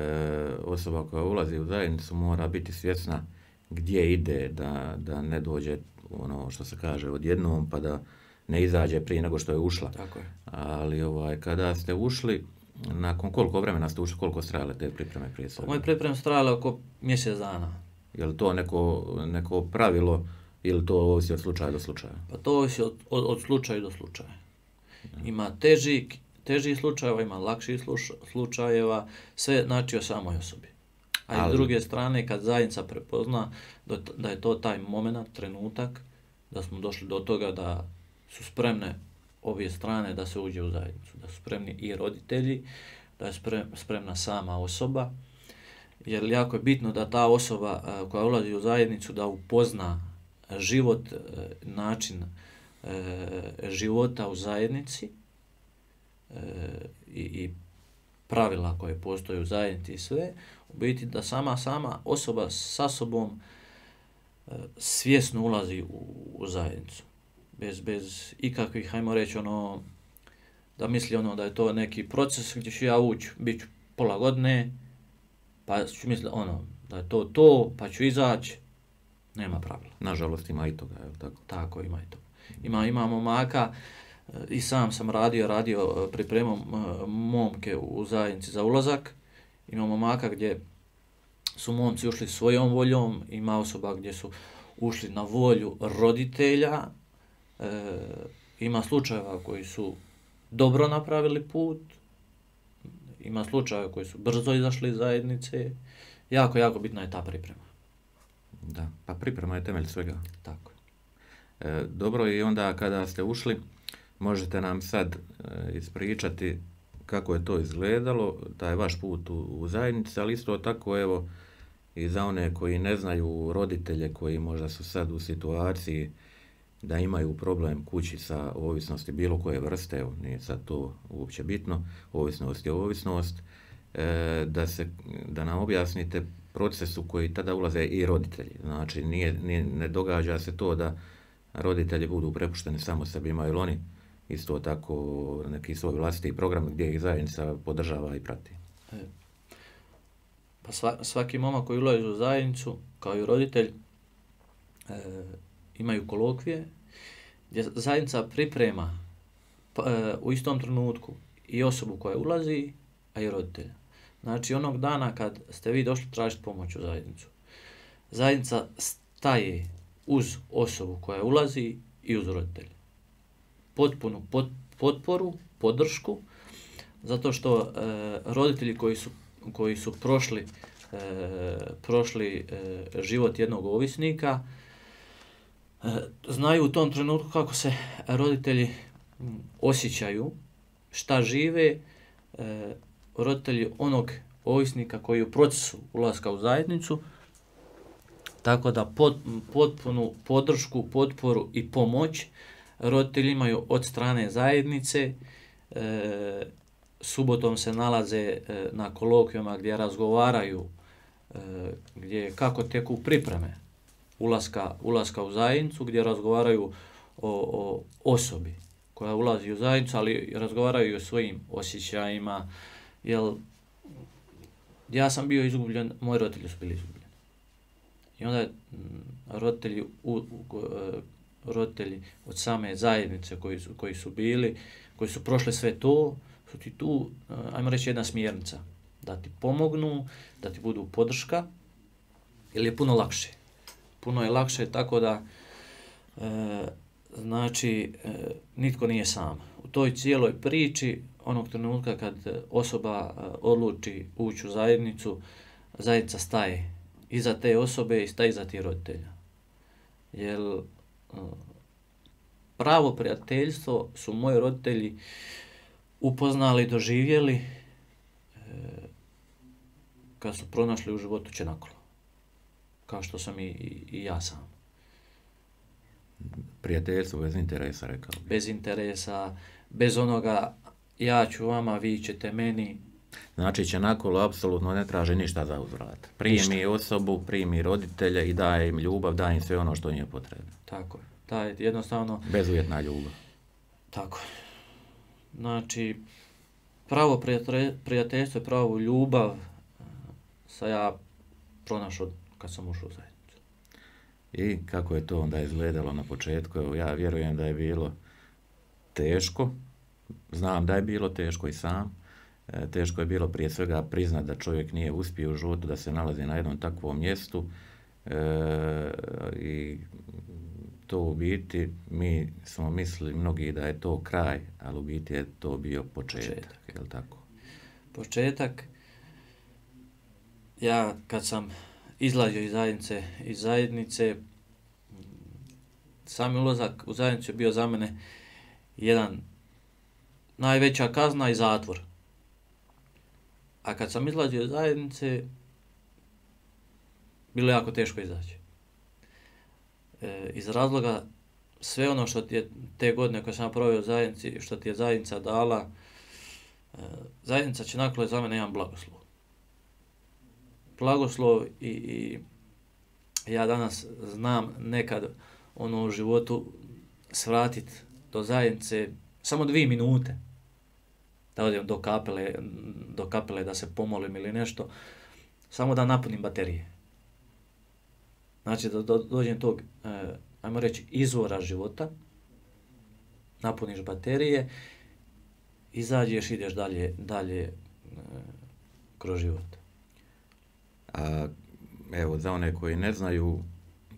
osoba koja ulazi u zajednicu mora biti svjesna gdje ide, da, da ne dođe ono što se kaže odjednom, pa da ne izađe prije nego što je ušla. Tako je. Ali ovaj, kada ste ušli, nakon koliko vremena ste ušli, koliko su trajale te pripreme prije svega? Moje pripreme su trajale oko mjesec dana. Je li to neko, neko pravilo ili to ovisi od slučaja do slučaja? Pa to ovisi od, od, od slučaja do slučaja. Ima teži, teži slučajeva, ima lakših slučajeva, sve znači o samoj osobi. A ali, s druge strane, kad zajednica prepozna da je to taj moment, trenutak, da smo došli do toga da su spremne obje strane da se uđe u zajednicu, da su spremni i roditelji, da je spremna sama osoba, jer jako je bitno da ta osoba koja ulazi u zajednicu da upozna život, način života u zajednici i, i pravila koje postoje u zajednici i sve, u biti da sama sama osoba sa sobom svjesno ulazi u, u zajednicu. Bez, bez ikakvih, hajmo reći, ono, da misli ono da je to neki proces gdje ću ja ući, bit ću pola godine, pa ću misliti ono, da je to to, pa ću izaći, nema pravila. Nažalost ima i toga, je li tako? Tako, ima i toga. Ima, ima momaka, i sam sam radio, radio pripremom momke u zajednici za ulazak, ima momaka gdje su momci ušli svojom voljom, ima osoba gdje su ušli na volju roditelja, e, ima slučajeva koji su dobro napravili put, ima slučajeva koji su brzo izašli iz zajednice, jako, jako bitna je ta priprema. Da, pa priprema je temelj svega. Tako. E, dobro, i onda kada ste ušli, možete nam sad e, ispričati kako je to izgledalo, taj vaš put u, u zajednici, ali isto tako, evo, i za one koji ne znaju, roditelje koji možda su sad u situaciji da imaju problem kući sa ovisnosti bilo koje vrste, evo, nije sad to uopće bitno, ovisnost je ovisnost, e, da, se, da nam objasnite proces u koji tada ulaze i roditelji. Znači, nije, nije, ne događa se to da roditelji budu prepušteni samo sebi, imaju ili oni isto tako neki svoj vlastiti program gdje ih zajednica podržava i prati. E, pa sva, svaki momak koji ulazi u zajednicu, kao i roditelj, e, imaju kolokvije, gdje zajednica priprema pa, e, u istom trenutku i osobu koja ulazi, a i roditelja. Znači onog dana kad ste vi došli tražiti pomoć u zajednicu, zajednica staje uz osobu koja ulazi i uz roditelja. Potpunu pot, potporu, podršku, zato što e, roditelji koji su, koji su prošli, e, prošli e, život jednog ovisnika, e, znaju u tom trenutku kako se roditelji osjećaju, šta žive, e, roditelji onog ovisnika koji je u procesu ulaska u zajednicu, tako da pot, potpunu podršku, potporu i pomoć roditelji imaju od strane zajednice. E, subotom se nalaze e, na kolokvijama gdje razgovaraju, e, gdje kako teku pripreme ulaska, ulaska u zajednicu, gdje razgovaraju o, o osobi koja ulazi u zajednicu, ali razgovaraju i o svojim osjećajima, jer ja sam bio izgubljen, moji roditelji su bili izgubljeni. I onda je roditelji, u, u, roditelji od same zajednice koji su, koji su bili, koji su prošli sve to, su ti tu, ajmo reći, jedna smjernica. Da ti pomognu, da ti budu podrška, jer je puno lakše. Puno je lakše tako da, e, znači, e, nitko nije sam. U toj cijeloj priči, onog trenutka kad osoba odluči ući u zajednicu, zajednica staje iza te osobe i staje iza tih roditelja. Jer pravo prijateljstvo su moji roditelji upoznali, doživjeli e, kad su pronašli u životu čenakolo. Kao što sam i, i, i ja sam. Prijateljstvo bez interesa, rekao bih. Bez interesa, bez onoga ja ću vama, vi ćete meni. Znači čenakolo apsolutno ne traži ništa za uzvrat. Primi ništa. Osobu, primi roditelja i daje im ljubav, daje im sve ono što im je potrebno. Tako je. Taj jednostavno... Bezuvjetna ljubav. Tako je. Znači, pravo prijateljstvo, pravo ljubav sam ja pronašao kad sam ušao u zajednicu. I kako je to onda izgledalo na početku? Evo, ja vjerujem da je bilo teško. Znam da je bilo teško i sam. E, teško je bilo prije svega priznat da čovjek nije uspio u životu, da se nalazi na jednom takvom mjestu. E, I to u biti, mi smo mislili mnogi da je to kraj, ali u biti je to bio početak. početak. Je li tako? Početak. Ja kad sam izlazio iz zajednice, iz zajednice, sami ulazak u zajednicu je bio za mene jedan najveća kazna i zatvor. A kad sam izlazio iz zajednice, bilo je jako teško izaći. E, iz razloga sve ono što ti je te godine koje sam proveo u zajednici, što ti je zajednica dala, e, zajednica čenakolo je za mene jedan blagoslov. Blagoslov i, i ja danas znam nekad ono u životu svratiti do zajednice samo dvije minute. Da odem do kapele, do kapele da se pomolim ili nešto, samo da napunim baterije. Znači da do, dođem tog, eh, ajmo reći, izvora života, napuniš baterije, izađeš, ideš dalje, dalje eh, kroz život. A, evo, za one koji ne znaju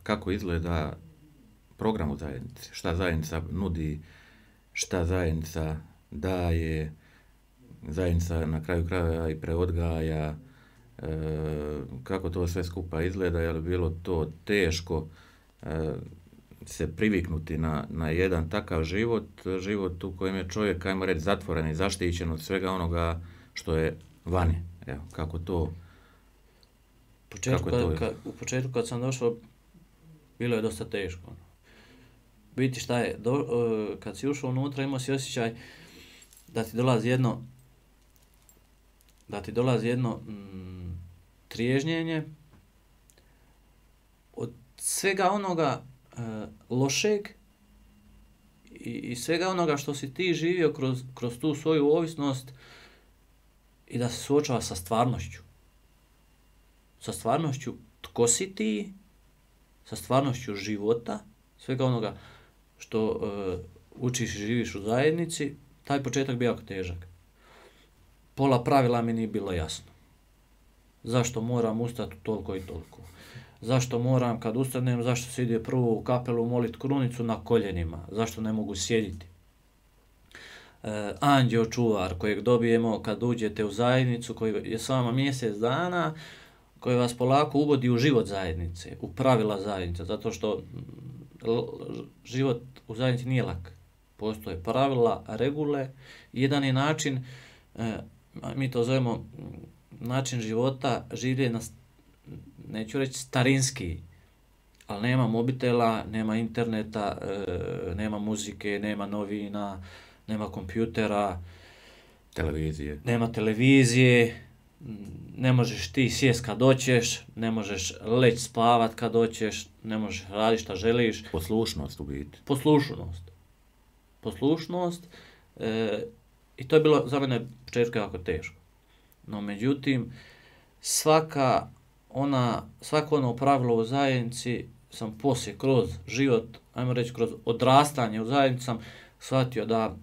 kako izgleda program u zajednici, šta zajednica nudi, šta zajednica daje, zajednica na kraju krajeva i preodgaja, e, kako to sve skupa izgleda, je li bilo to teško e, se priviknuti na, na jedan takav život, život u kojem je čovjek, ajmo reći, zatvoren i zaštićen od svega onoga što je vani. Evo, kako to... Početku, kad, kad, u početku kad sam došao, bilo je dosta teško. Biti šta je, do, uh, kad si ušao unutra, imao si osjećaj da ti dolazi jedno, da ti dolazi jedno mm, triježnjenje od svega onoga uh, lošeg i, i svega onoga što si ti živio kroz, kroz tu svoju ovisnost i da se suočava sa stvarnošću. Sa stvarnošću tko si ti, sa stvarnošću života, svega onoga što uh, učiš i živiš u zajednici, taj početak bio jako težak. pola pravila mi nije bilo jasno. Zašto moram ustati toliko i toliko? Zašto moram kad ustanem, zašto se ide prvo u kapelu molit krunicu na koljenima? Zašto ne mogu sjediti? E, anđeo čuvar kojeg dobijemo kad uđete u zajednicu, koji je s vama mjesec dana, koji vas polako uvodi u život zajednice, u pravila zajednice, zato što život u zajednici nije lak. Postoje pravila, regule. Jedan je način, e, mi to zovemo način života, življenja, neću reći starinski, ali nema mobitela, nema interneta, e, nema muzike, nema novina, nema kompjutera, televizije. Nema televizije, ne možeš ti sjest kad doćeš, ne možeš leć spavat kad doćeš, ne možeš raditi šta želiš. Poslušnost u biti. Poslušnost. Poslušnost. E, I to je bilo za mene početka jako teško. No međutim, svaka ona, svako ono pravilo u zajednici sam poslije kroz život, ajmo reći kroz odrastanje u zajednici sam shvatio da,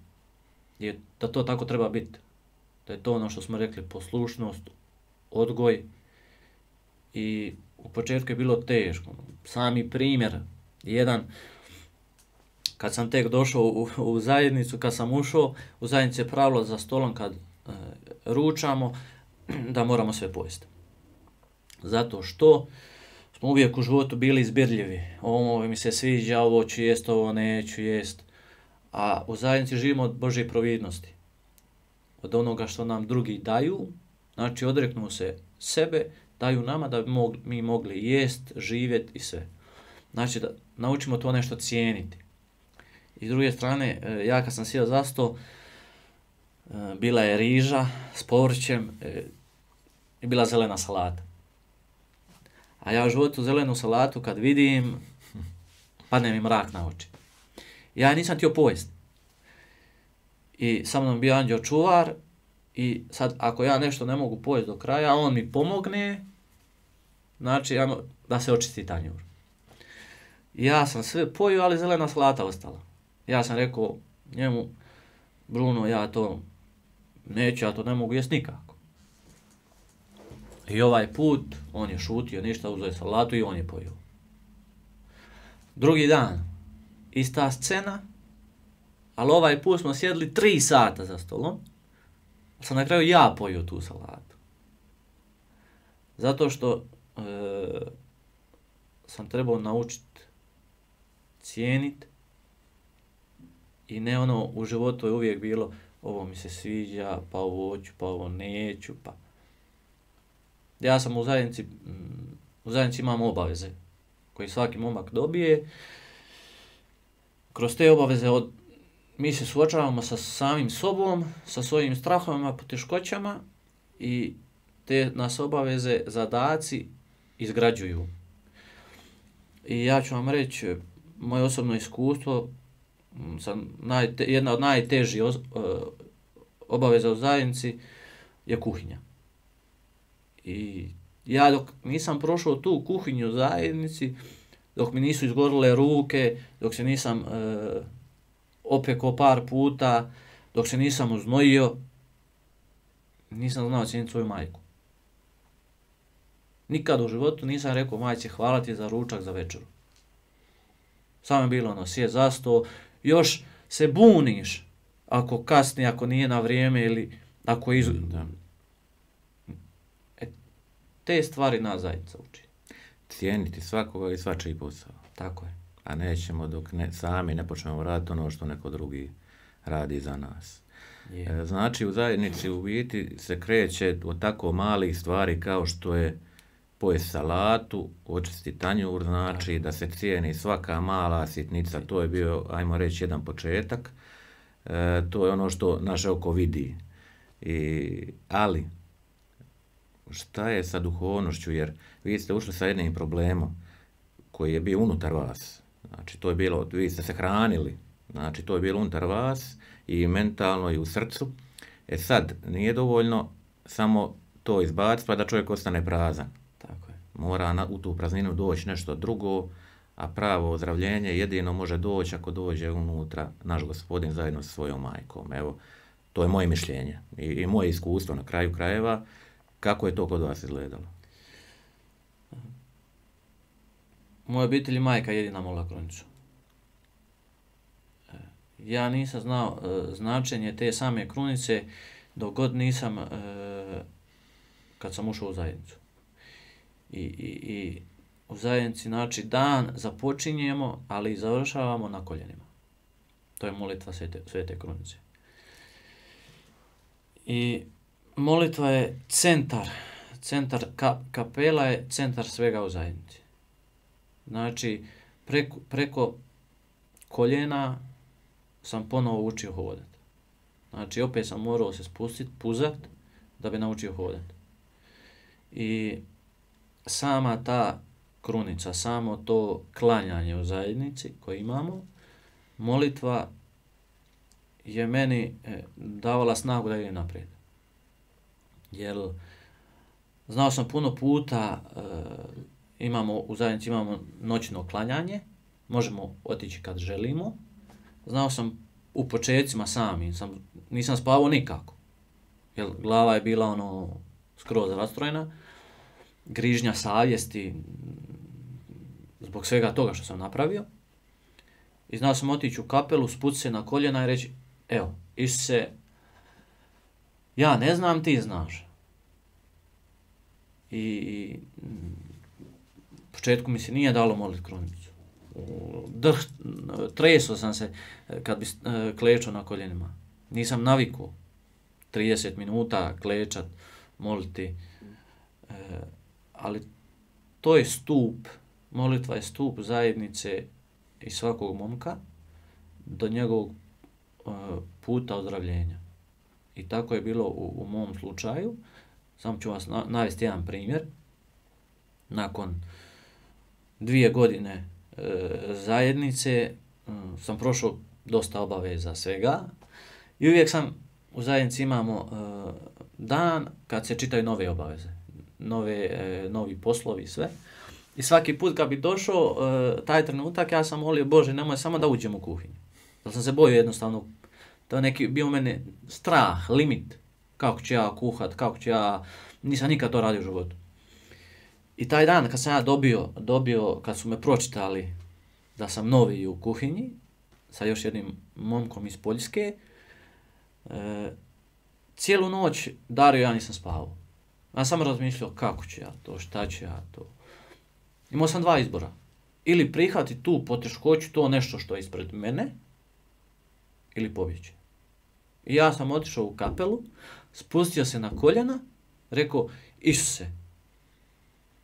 je, da to tako treba biti. Da je to ono što smo rekli, poslušnost, odgoj. I u početku je bilo teško. Sami primjer, jedan, kad sam tek došao u, u zajednicu, kad sam ušao, u zajednici je pravilo za stolom kad e, ručamo, da moramo sve pojesti. Zato što smo uvijek u životu bili izbirljivi. Ovo mi se sviđa, ovo ću jest, ovo neću jest. A u zajednici živimo od Božje providnosti. Od onoga što nam drugi daju, znači odreknu se sebe, daju nama da bi mogli, mi mogli jest, živjeti i sve. Znači da naučimo to nešto cijeniti. I s druge strane, ja kad sam sjeo za sto, bila je riža s povrćem i bila zelena salata. A ja u životu zelenu salatu kad vidim, padne mi mrak na oči. Ja nisam htio pojesti. I sa mnom bio anđeo čuvar i sad ako ja nešto ne mogu pojesti do kraja, on mi pomogne, znači da se očisti tanjur. Ja sam sve pojio, ali zelena salata ostala. Ja sam rekao njemu, Bruno, ja to neću, ja to ne mogu jesti nikako. I ovaj put, on je šutio, ništa, uzeo je salatu i on je pojio. Drugi dan, ista scena, ali ovaj put smo sjedli tri sata za stolom, sam na kraju ja pojio tu salatu. Zato što e, sam trebao naučiti cijeniti i ne ono u životu je uvijek bilo ovo mi se sviđa, pa ovo ću, pa ovo neću, pa... Ja sam u zajednici, u zajednici imam obaveze koje svaki momak dobije. Kroz te obaveze od, mi se suočavamo sa samim sobom, sa svojim strahovima, poteškoćama i te nas obaveze, zadaci izgrađuju. I ja ću vam reći, moje osobno iskustvo, sam najte, jedna od najtežih obaveza u zajednici je kuhinja. I ja dok nisam prošao tu kuhinju u zajednici, dok mi nisu izgorile ruke, dok se nisam e, opekao par puta, dok se nisam uznojio, nisam znao cijeniti svoju majku. Nikad u životu nisam rekao majci hvala ti za ručak, za večeru. Samo je bilo ono, sjed za sto, još se buniš ako kasni, ako nije na vrijeme ili ako iz... Da. E, te stvari nas zajednica uči. Cijeniti svakoga i svačiji posao. Tako je. A nećemo dok ne, sami ne počnemo raditi ono što neko drugi radi za nas. Je. Znači u zajednici u biti se kreće od tako malih stvari kao što je pojesti salatu, očisti tanjur, znači tako da se cijeni svaka mala sitnica, to je bio, ajmo reći, jedan početak. E, to je ono što naše oko vidi. I, ali, šta je sa duhovnošću, jer vi ste ušli sa jednim problemom koji je bio unutar vas. Znači, to je bilo, vi ste se hranili, znači, to je bilo unutar vas i mentalno i u srcu. E sad, nije dovoljno samo to izbaciti pa da čovjek ostane prazan. Tako je. Mora na, u tu prazninu doći nešto drugo, a pravo ozdravljenje jedino može doći ako dođe unutra naš Gospodin zajedno sa svojom majkom. Evo, To je moje mišljenje i, i moje iskustvo na kraju krajeva. Kako je to kod vas izgledalo? U mojoj obitelji majka jedina molila krunicu. Ja nisam znao e, značenje te same krunice dok god nisam, e, kad sam ušao u zajednicu. I, i, i u zajednici, znači, dan započinjemo, ali i završavamo na koljenima. To je molitva svete, svete krunice. I molitva je centar, centar ka, kapela je centar svega u zajednici. Znači, preko, preko koljena sam ponovo učio hodati. Znači, opet sam morao se spustiti, puzat, da bi naučio hodati. I sama ta krunica, samo to klanjanje u zajednici koje imamo, molitva je meni davala snagu da idem naprijed. Jer znao sam puno puta, e, imamo u zajednici imamo noćno klanjanje, možemo otići kad želimo. Znao sam u početcima sami, sam, nisam spavao nikako, jer glava je bila ono skroz rastrojena, grižnja savjesti zbog svega toga što sam napravio. I znao sam otići u kapelu, spusti se na koljena i reći, evo, Isuse, ja ne znam, ti znaš. I u početku mi se nije dalo moliti krunicu. Drh, treso sam se kad bi klečao na koljenima. Nisam navikao trideset minuta klečat, moliti. E, ali to je stup, molitva je stup zajednice i svakog momka do njegovog uh, puta ozdravljenja. I tako je bilo u, u mom slučaju. Samo ću vas na, navesti jedan primjer. Nakon dvije godine uh, zajednice uh, sam prošao dosta obaveza svega i uvijek sam u zajednici imamo uh, dan kad se čitaju nove obaveze, nove, uh, novi poslovi i sve. I svaki put kad bi došao uh, taj trenutak, ja sam molio, Bože, nemoj samo da uđem u kuhinju. Jer sam se bojio jednostavno, to je neki bio u mene strah, limit. Kako ću ja kuhat, kako ću ja, nisam nikad to radio u životu. I taj dan kad sam ja dobio, dobio, kad su me pročitali da sam novi u kuhinji, sa još jednim momkom iz Poljske, uh, cijelu noć Dario ja nisam spavao. Ja sam razmišljao kako ću ja to, šta ću ja to. Imao sam dva izbora. Ili prihvati tu poteškoću, to nešto što je ispred mene, ili pobjeći. I ja sam otišao u kapelu, spustio se na koljena, rekao, Isuse,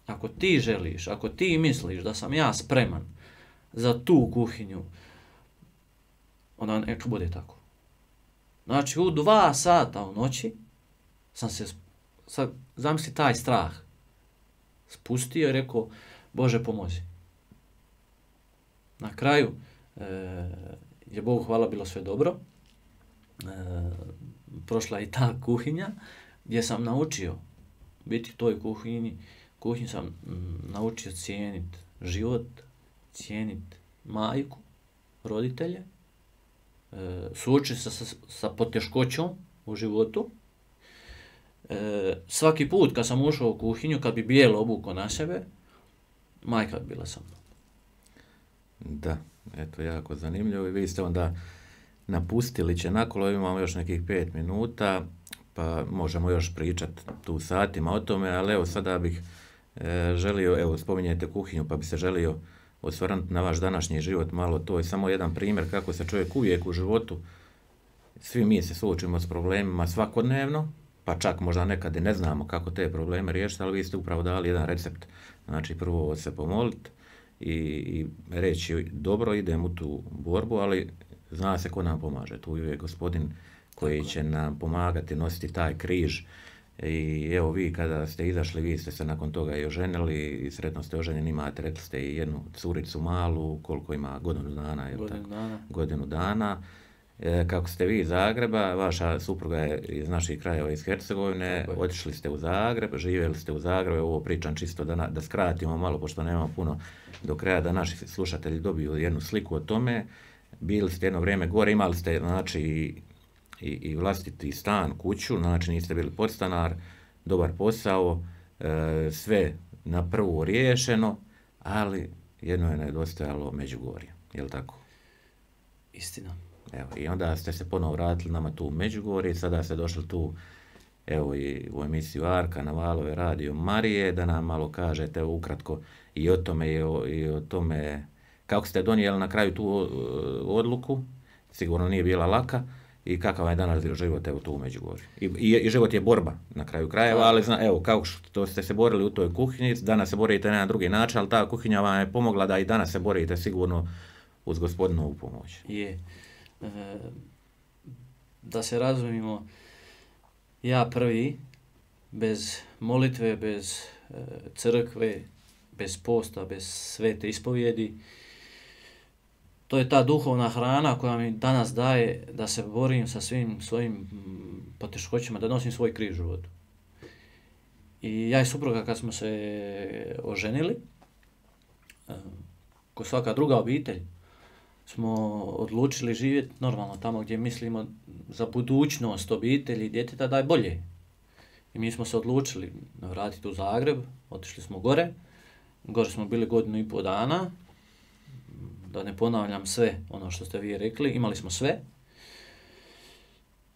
ako ti želiš, ako ti misliš da sam ja spreman za tu kuhinju, onda neka bude tako. Znači, u dva sata u noći sam se, sad, zamisli taj strah, spustio i rekao, Bože, pomozi. Na kraju e, je Bogu hvala bilo sve dobro. E, prošla i ta kuhinja gdje sam naučio biti u toj kuhinji. Kuhinji sam m, naučio cijeniti život, cijeniti majku, roditelje, e, suočiti se sa, sa poteškoćom u životu. E, svaki put kad sam ušao u kuhinju, kad bi bijelo obukao na sebe, majka bi bila sa mnom. Da, eto, jako zanimljivo. I vi ste onda napustili Čenakolo, imamo još nekih pet minuta, pa možemo još pričati tu satima o tome, ali evo sada bih e, želio, evo spominjete kuhinju, pa bi se želio osvrnuti na vaš današnji život malo. To je samo jedan primjer kako se čovjek uvijek u životu, svi mi se suočimo s problemima svakodnevno, pa čak možda nekad i ne znamo kako te probleme riješiti, ali vi ste upravo dali jedan recept. Znači, prvo se pomoliti i, i reći, dobro, idem u tu borbu, ali zna se ko nam pomaže. Tu je Gospodin koji će nam pomagati nositi taj križ. I evo, vi kada ste izašli, vi ste se nakon toga i oženili i sretno ste oženjeni, imate, rekli ste, i jednu curicu malu, koliko ima, godinu dana, je godinu tako? dana. Godinu dana. E, kako ste vi iz Zagreba, vaša supruga je iz naših krajeva iz Hercegovine, otišli ste u Zagreb, živjeli ste u Zagrebu, ovo pričam čisto da, na, da skratimo malo, pošto nemamo puno do kraja, da naši slušatelji dobiju jednu sliku o tome. Bili ste jedno vrijeme gore, imali ste, znači, i, i vlastiti stan, kuću, znači niste bili podstanar, dobar posao, e, sve na prvu riješeno, ali jedno je nedostajalo Međugorje, je li tako? Istina. Evo, i onda ste se ponovo vratili nama tu u Međugorje, sada ste došli tu, evo i u emisiju Arka na Valove radio Marije, da nam malo kažete ukratko i o tome i o, i o tome kako ste donijeli na kraju tu odluku, sigurno nije bila laka, i kakav je danas život evo tu u Međugorju. I, i, i život je borba na kraju krajeva, ali zna, evo kako što ste se borili u toj kuhinji, danas se borite na drugi način, ali ta kuhinja vam je pomogla da i danas se borite sigurno uz Gospodinovu pomoć. Je. E, da se razumimo, ja prvi, bez molitve, bez e, crkve, bez posta, bez svete ispovjedi, to je ta duhovna hrana koja mi danas daje da se borim sa svim svojim poteškoćama, da nosim svoj križ u životu. I ja i supruga kad smo se oženili, ko svaka druga obitelj, smo odlučili živjeti normalno tamo gdje mislimo za budućnost obitelji i djeteta da je bolje. I mi smo se odlučili vratiti u Zagreb, otišli smo gore, gore smo bili godinu i pol dana, da ne ponavljam sve ono što ste vi rekli, imali smo sve,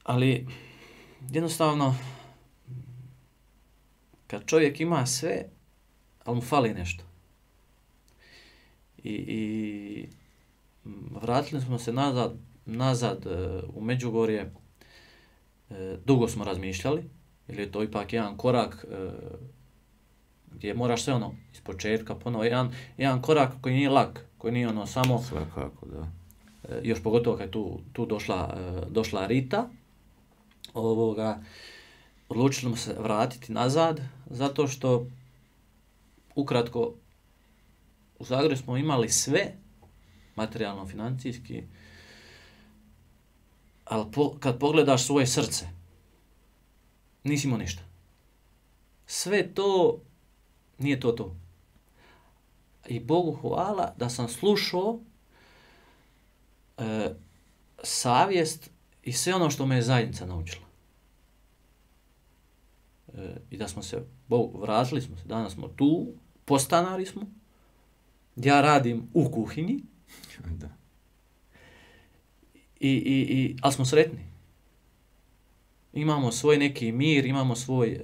ali jednostavno kad čovjek ima sve, ali mu fali nešto. I, i vratili smo se nazad, nazad u Međugorje, dugo smo razmišljali, jer je to ipak jedan korak gdje moraš sve ono iz početka ponovo, jedan, jedan korak koji nije lak, koji nije ono samo... Svakako, da. Još pogotovo kad je tu, tu došla, došla Rita, ovoga, odlučili smo se vratiti nazad, zato što ukratko u Zagrebu smo imali sve, materijalno, financijski, ali po, kad pogledaš svoje srce, nisi imao ništa. Sve to, nije to to. I Bogu hvala da sam slušao e, savjest i sve ono što me je zajednica naučila. E, I da smo se, Bogu, vratili smo se, danas smo tu, postanari smo, ja radim u kuhinji, Da. I, i, i, ali smo sretni. Imamo svoj neki mir, imamo svoj e,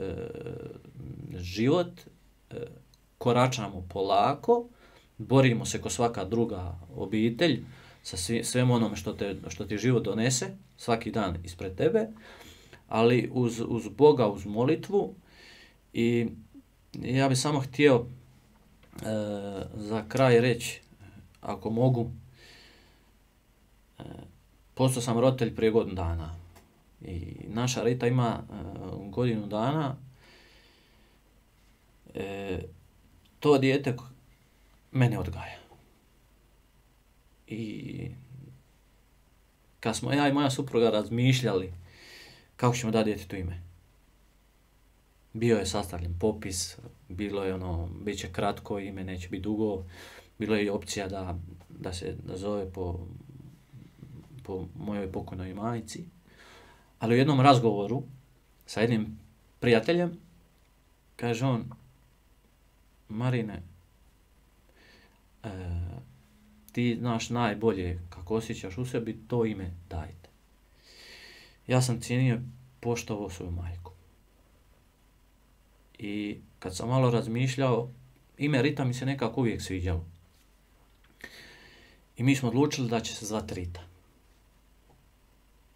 život, e, koračamo polako, borimo se ko svaka druga obitelj sa svi, svem onome što, te, što ti život donese, svaki dan ispred tebe, ali uz, uz Boga, uz molitvu. I ja bih samo htio e, za kraj reći, ako mogu, e, postao sam roditelj prije godinu dana i naša Rita ima e, godinu dana. E, to dijete mene odgaja. I kad smo ja i moja supruga razmišljali kako ćemo dati djetetu ime, bio je sastavljen popis, bilo je ono, bit će kratko ime, neće biti dugo, bilo je i opcija da, da se da zove po, po mojoj pokojnoj majci, ali u jednom razgovoru sa jednim prijateljem kaže on: Marine, e, ti znaš najbolje kako osjećaš u sebi, to ime dajte. Ja sam cijenio, poštovao svoju majku. I kad sam malo razmišljao, ime Rita mi se nekako uvijek sviđalo. I mi smo odlučili da će se zvati Rita.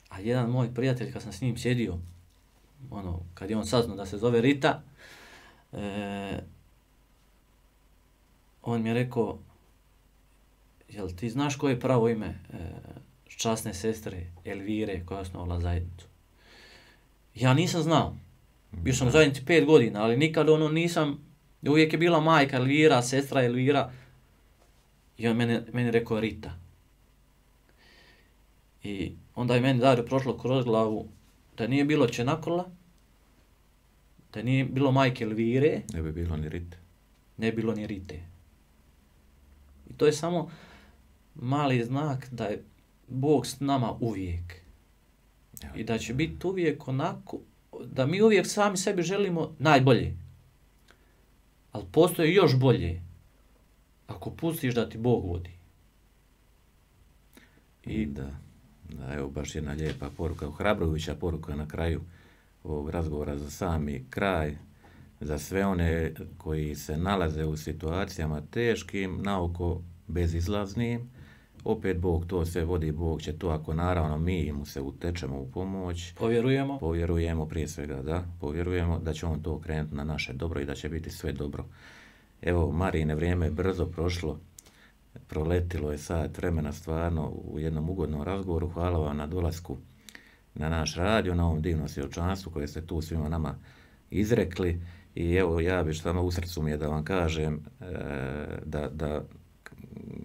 A jedan moj prijatelj, kad sam s njim sjedio, ono, kad je on saznao da se zove Rita, e, on mi je rekao: jel ti znaš koje je pravo ime e, časne sestre Elvire koja je osnovala zajednicu? Ja nisam znao. Bio sam u zajednici pet godina, ali nikad ono nisam, uvijek je bila majka Elvira, sestra Elvira. I on meni, meni rekao Rita. I onda je meni Dario prošlo kroz glavu da nije bilo Čenakola, da nije bilo majke Elvire, Ne bi bilo ni Rite. ne bilo ni Rite. I to je samo mali znak da je Bog s nama uvijek. i da će biti uvijek onako, da mi uvijek sami sebi želimo najbolje. Ali postoje još bolje ako pustiš da ti Bog vodi. I da, da, evo baš jedna lijepa poruka, ohrabrujuća poruka na kraju ovog razgovora za sami kraj, za sve one koji se nalaze u situacijama teškim, naoko bezizlaznim. Opet Bog to sve vodi, Bog će to, ako naravno mi mu se utečemo u pomoć. Povjerujemo. Povjerujemo prije svega, da. Povjerujemo da će on to okrenuti na naše dobro i da će biti sve dobro. Evo, Marine, vrijeme je brzo prošlo. Proletilo je sat vremena stvarno u jednom ugodnom razgovoru. Hvala vam na dolasku na naš radio, na ovom divnom svjedočanstvu koje ste tu svima nama izrekli. I evo, ja bih samo u srcu mi je da vam kažem e, da, da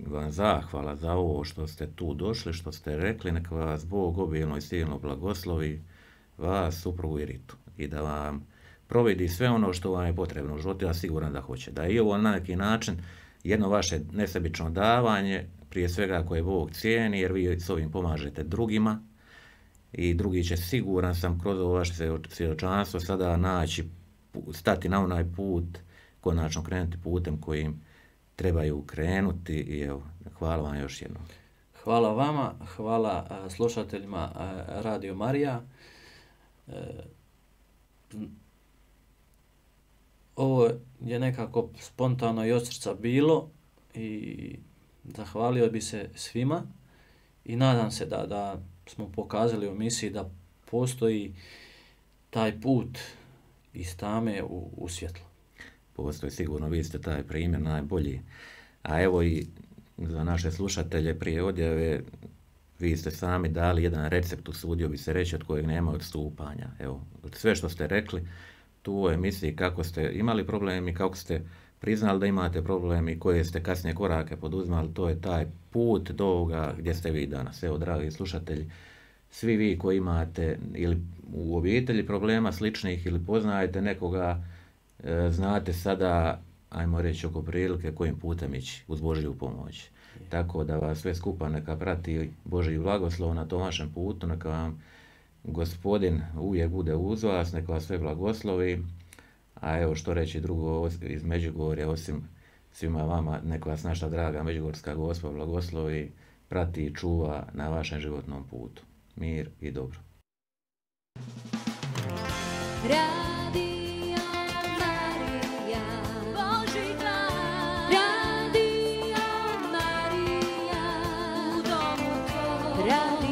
vam zahvala za ovo što ste tu došli, što ste rekli, neka vas Bog obilno i silno blagoslovi, vas, suprugu i Ritu, i da vam providi sve ono što vam je potrebno u životu, ja siguran da hoće. Da je ovo na neki način jedno vaše nesebično davanje, prije svega koje Bog cijeni, jer vi s ovim pomažete drugima i drugi će, siguran sam, kroz ovo vaše svjedočanstvo sada naći, stati na onaj put, konačno krenuti putem kojim trebaju krenuti i evo, hvala vam još jednom. Hvala vama, hvala a, slušateljima a, Radio Marija. E, ovo je nekako spontano i od srca bilo i zahvalio bi se svima i nadam se da, da smo pokazali u misiji da postoji taj put iz tame u, u svjetlo. Postoji sigurno, vi ste taj primjer najbolji. A evo i za naše slušatelje prije odjave, vi ste sami dali jedan recept, usudio bi se reći, od kojeg nema odstupanja. Evo, sve što ste rekli tu u emisiji, kako ste imali problem i kako ste priznali da imate problem i koje ste kasnije korake poduzimali, to je taj put do ovoga gdje ste vi danas. Evo, dragi slušatelji, svi vi koji imate ili u obitelji problema sličnih ili poznajete nekoga, znate sada, ajmo reći, oko prilike kojim putem ići uz Božju pomoć. Tako da vas sve skupa neka prati Božji blagoslov na tom vašem putu, neka vam Gospodin uvijek bude uz vas, neka vas sve blagoslovi. A evo što reći drugo iz Međugorja, osim svima vama, neka vas naša draga Međugorska Gospa blagoslovi, prati i čuva na vašem životnom putu. Mir i dobro. Radio Marija, Božji glas. Radio Marija, u domu tvoj.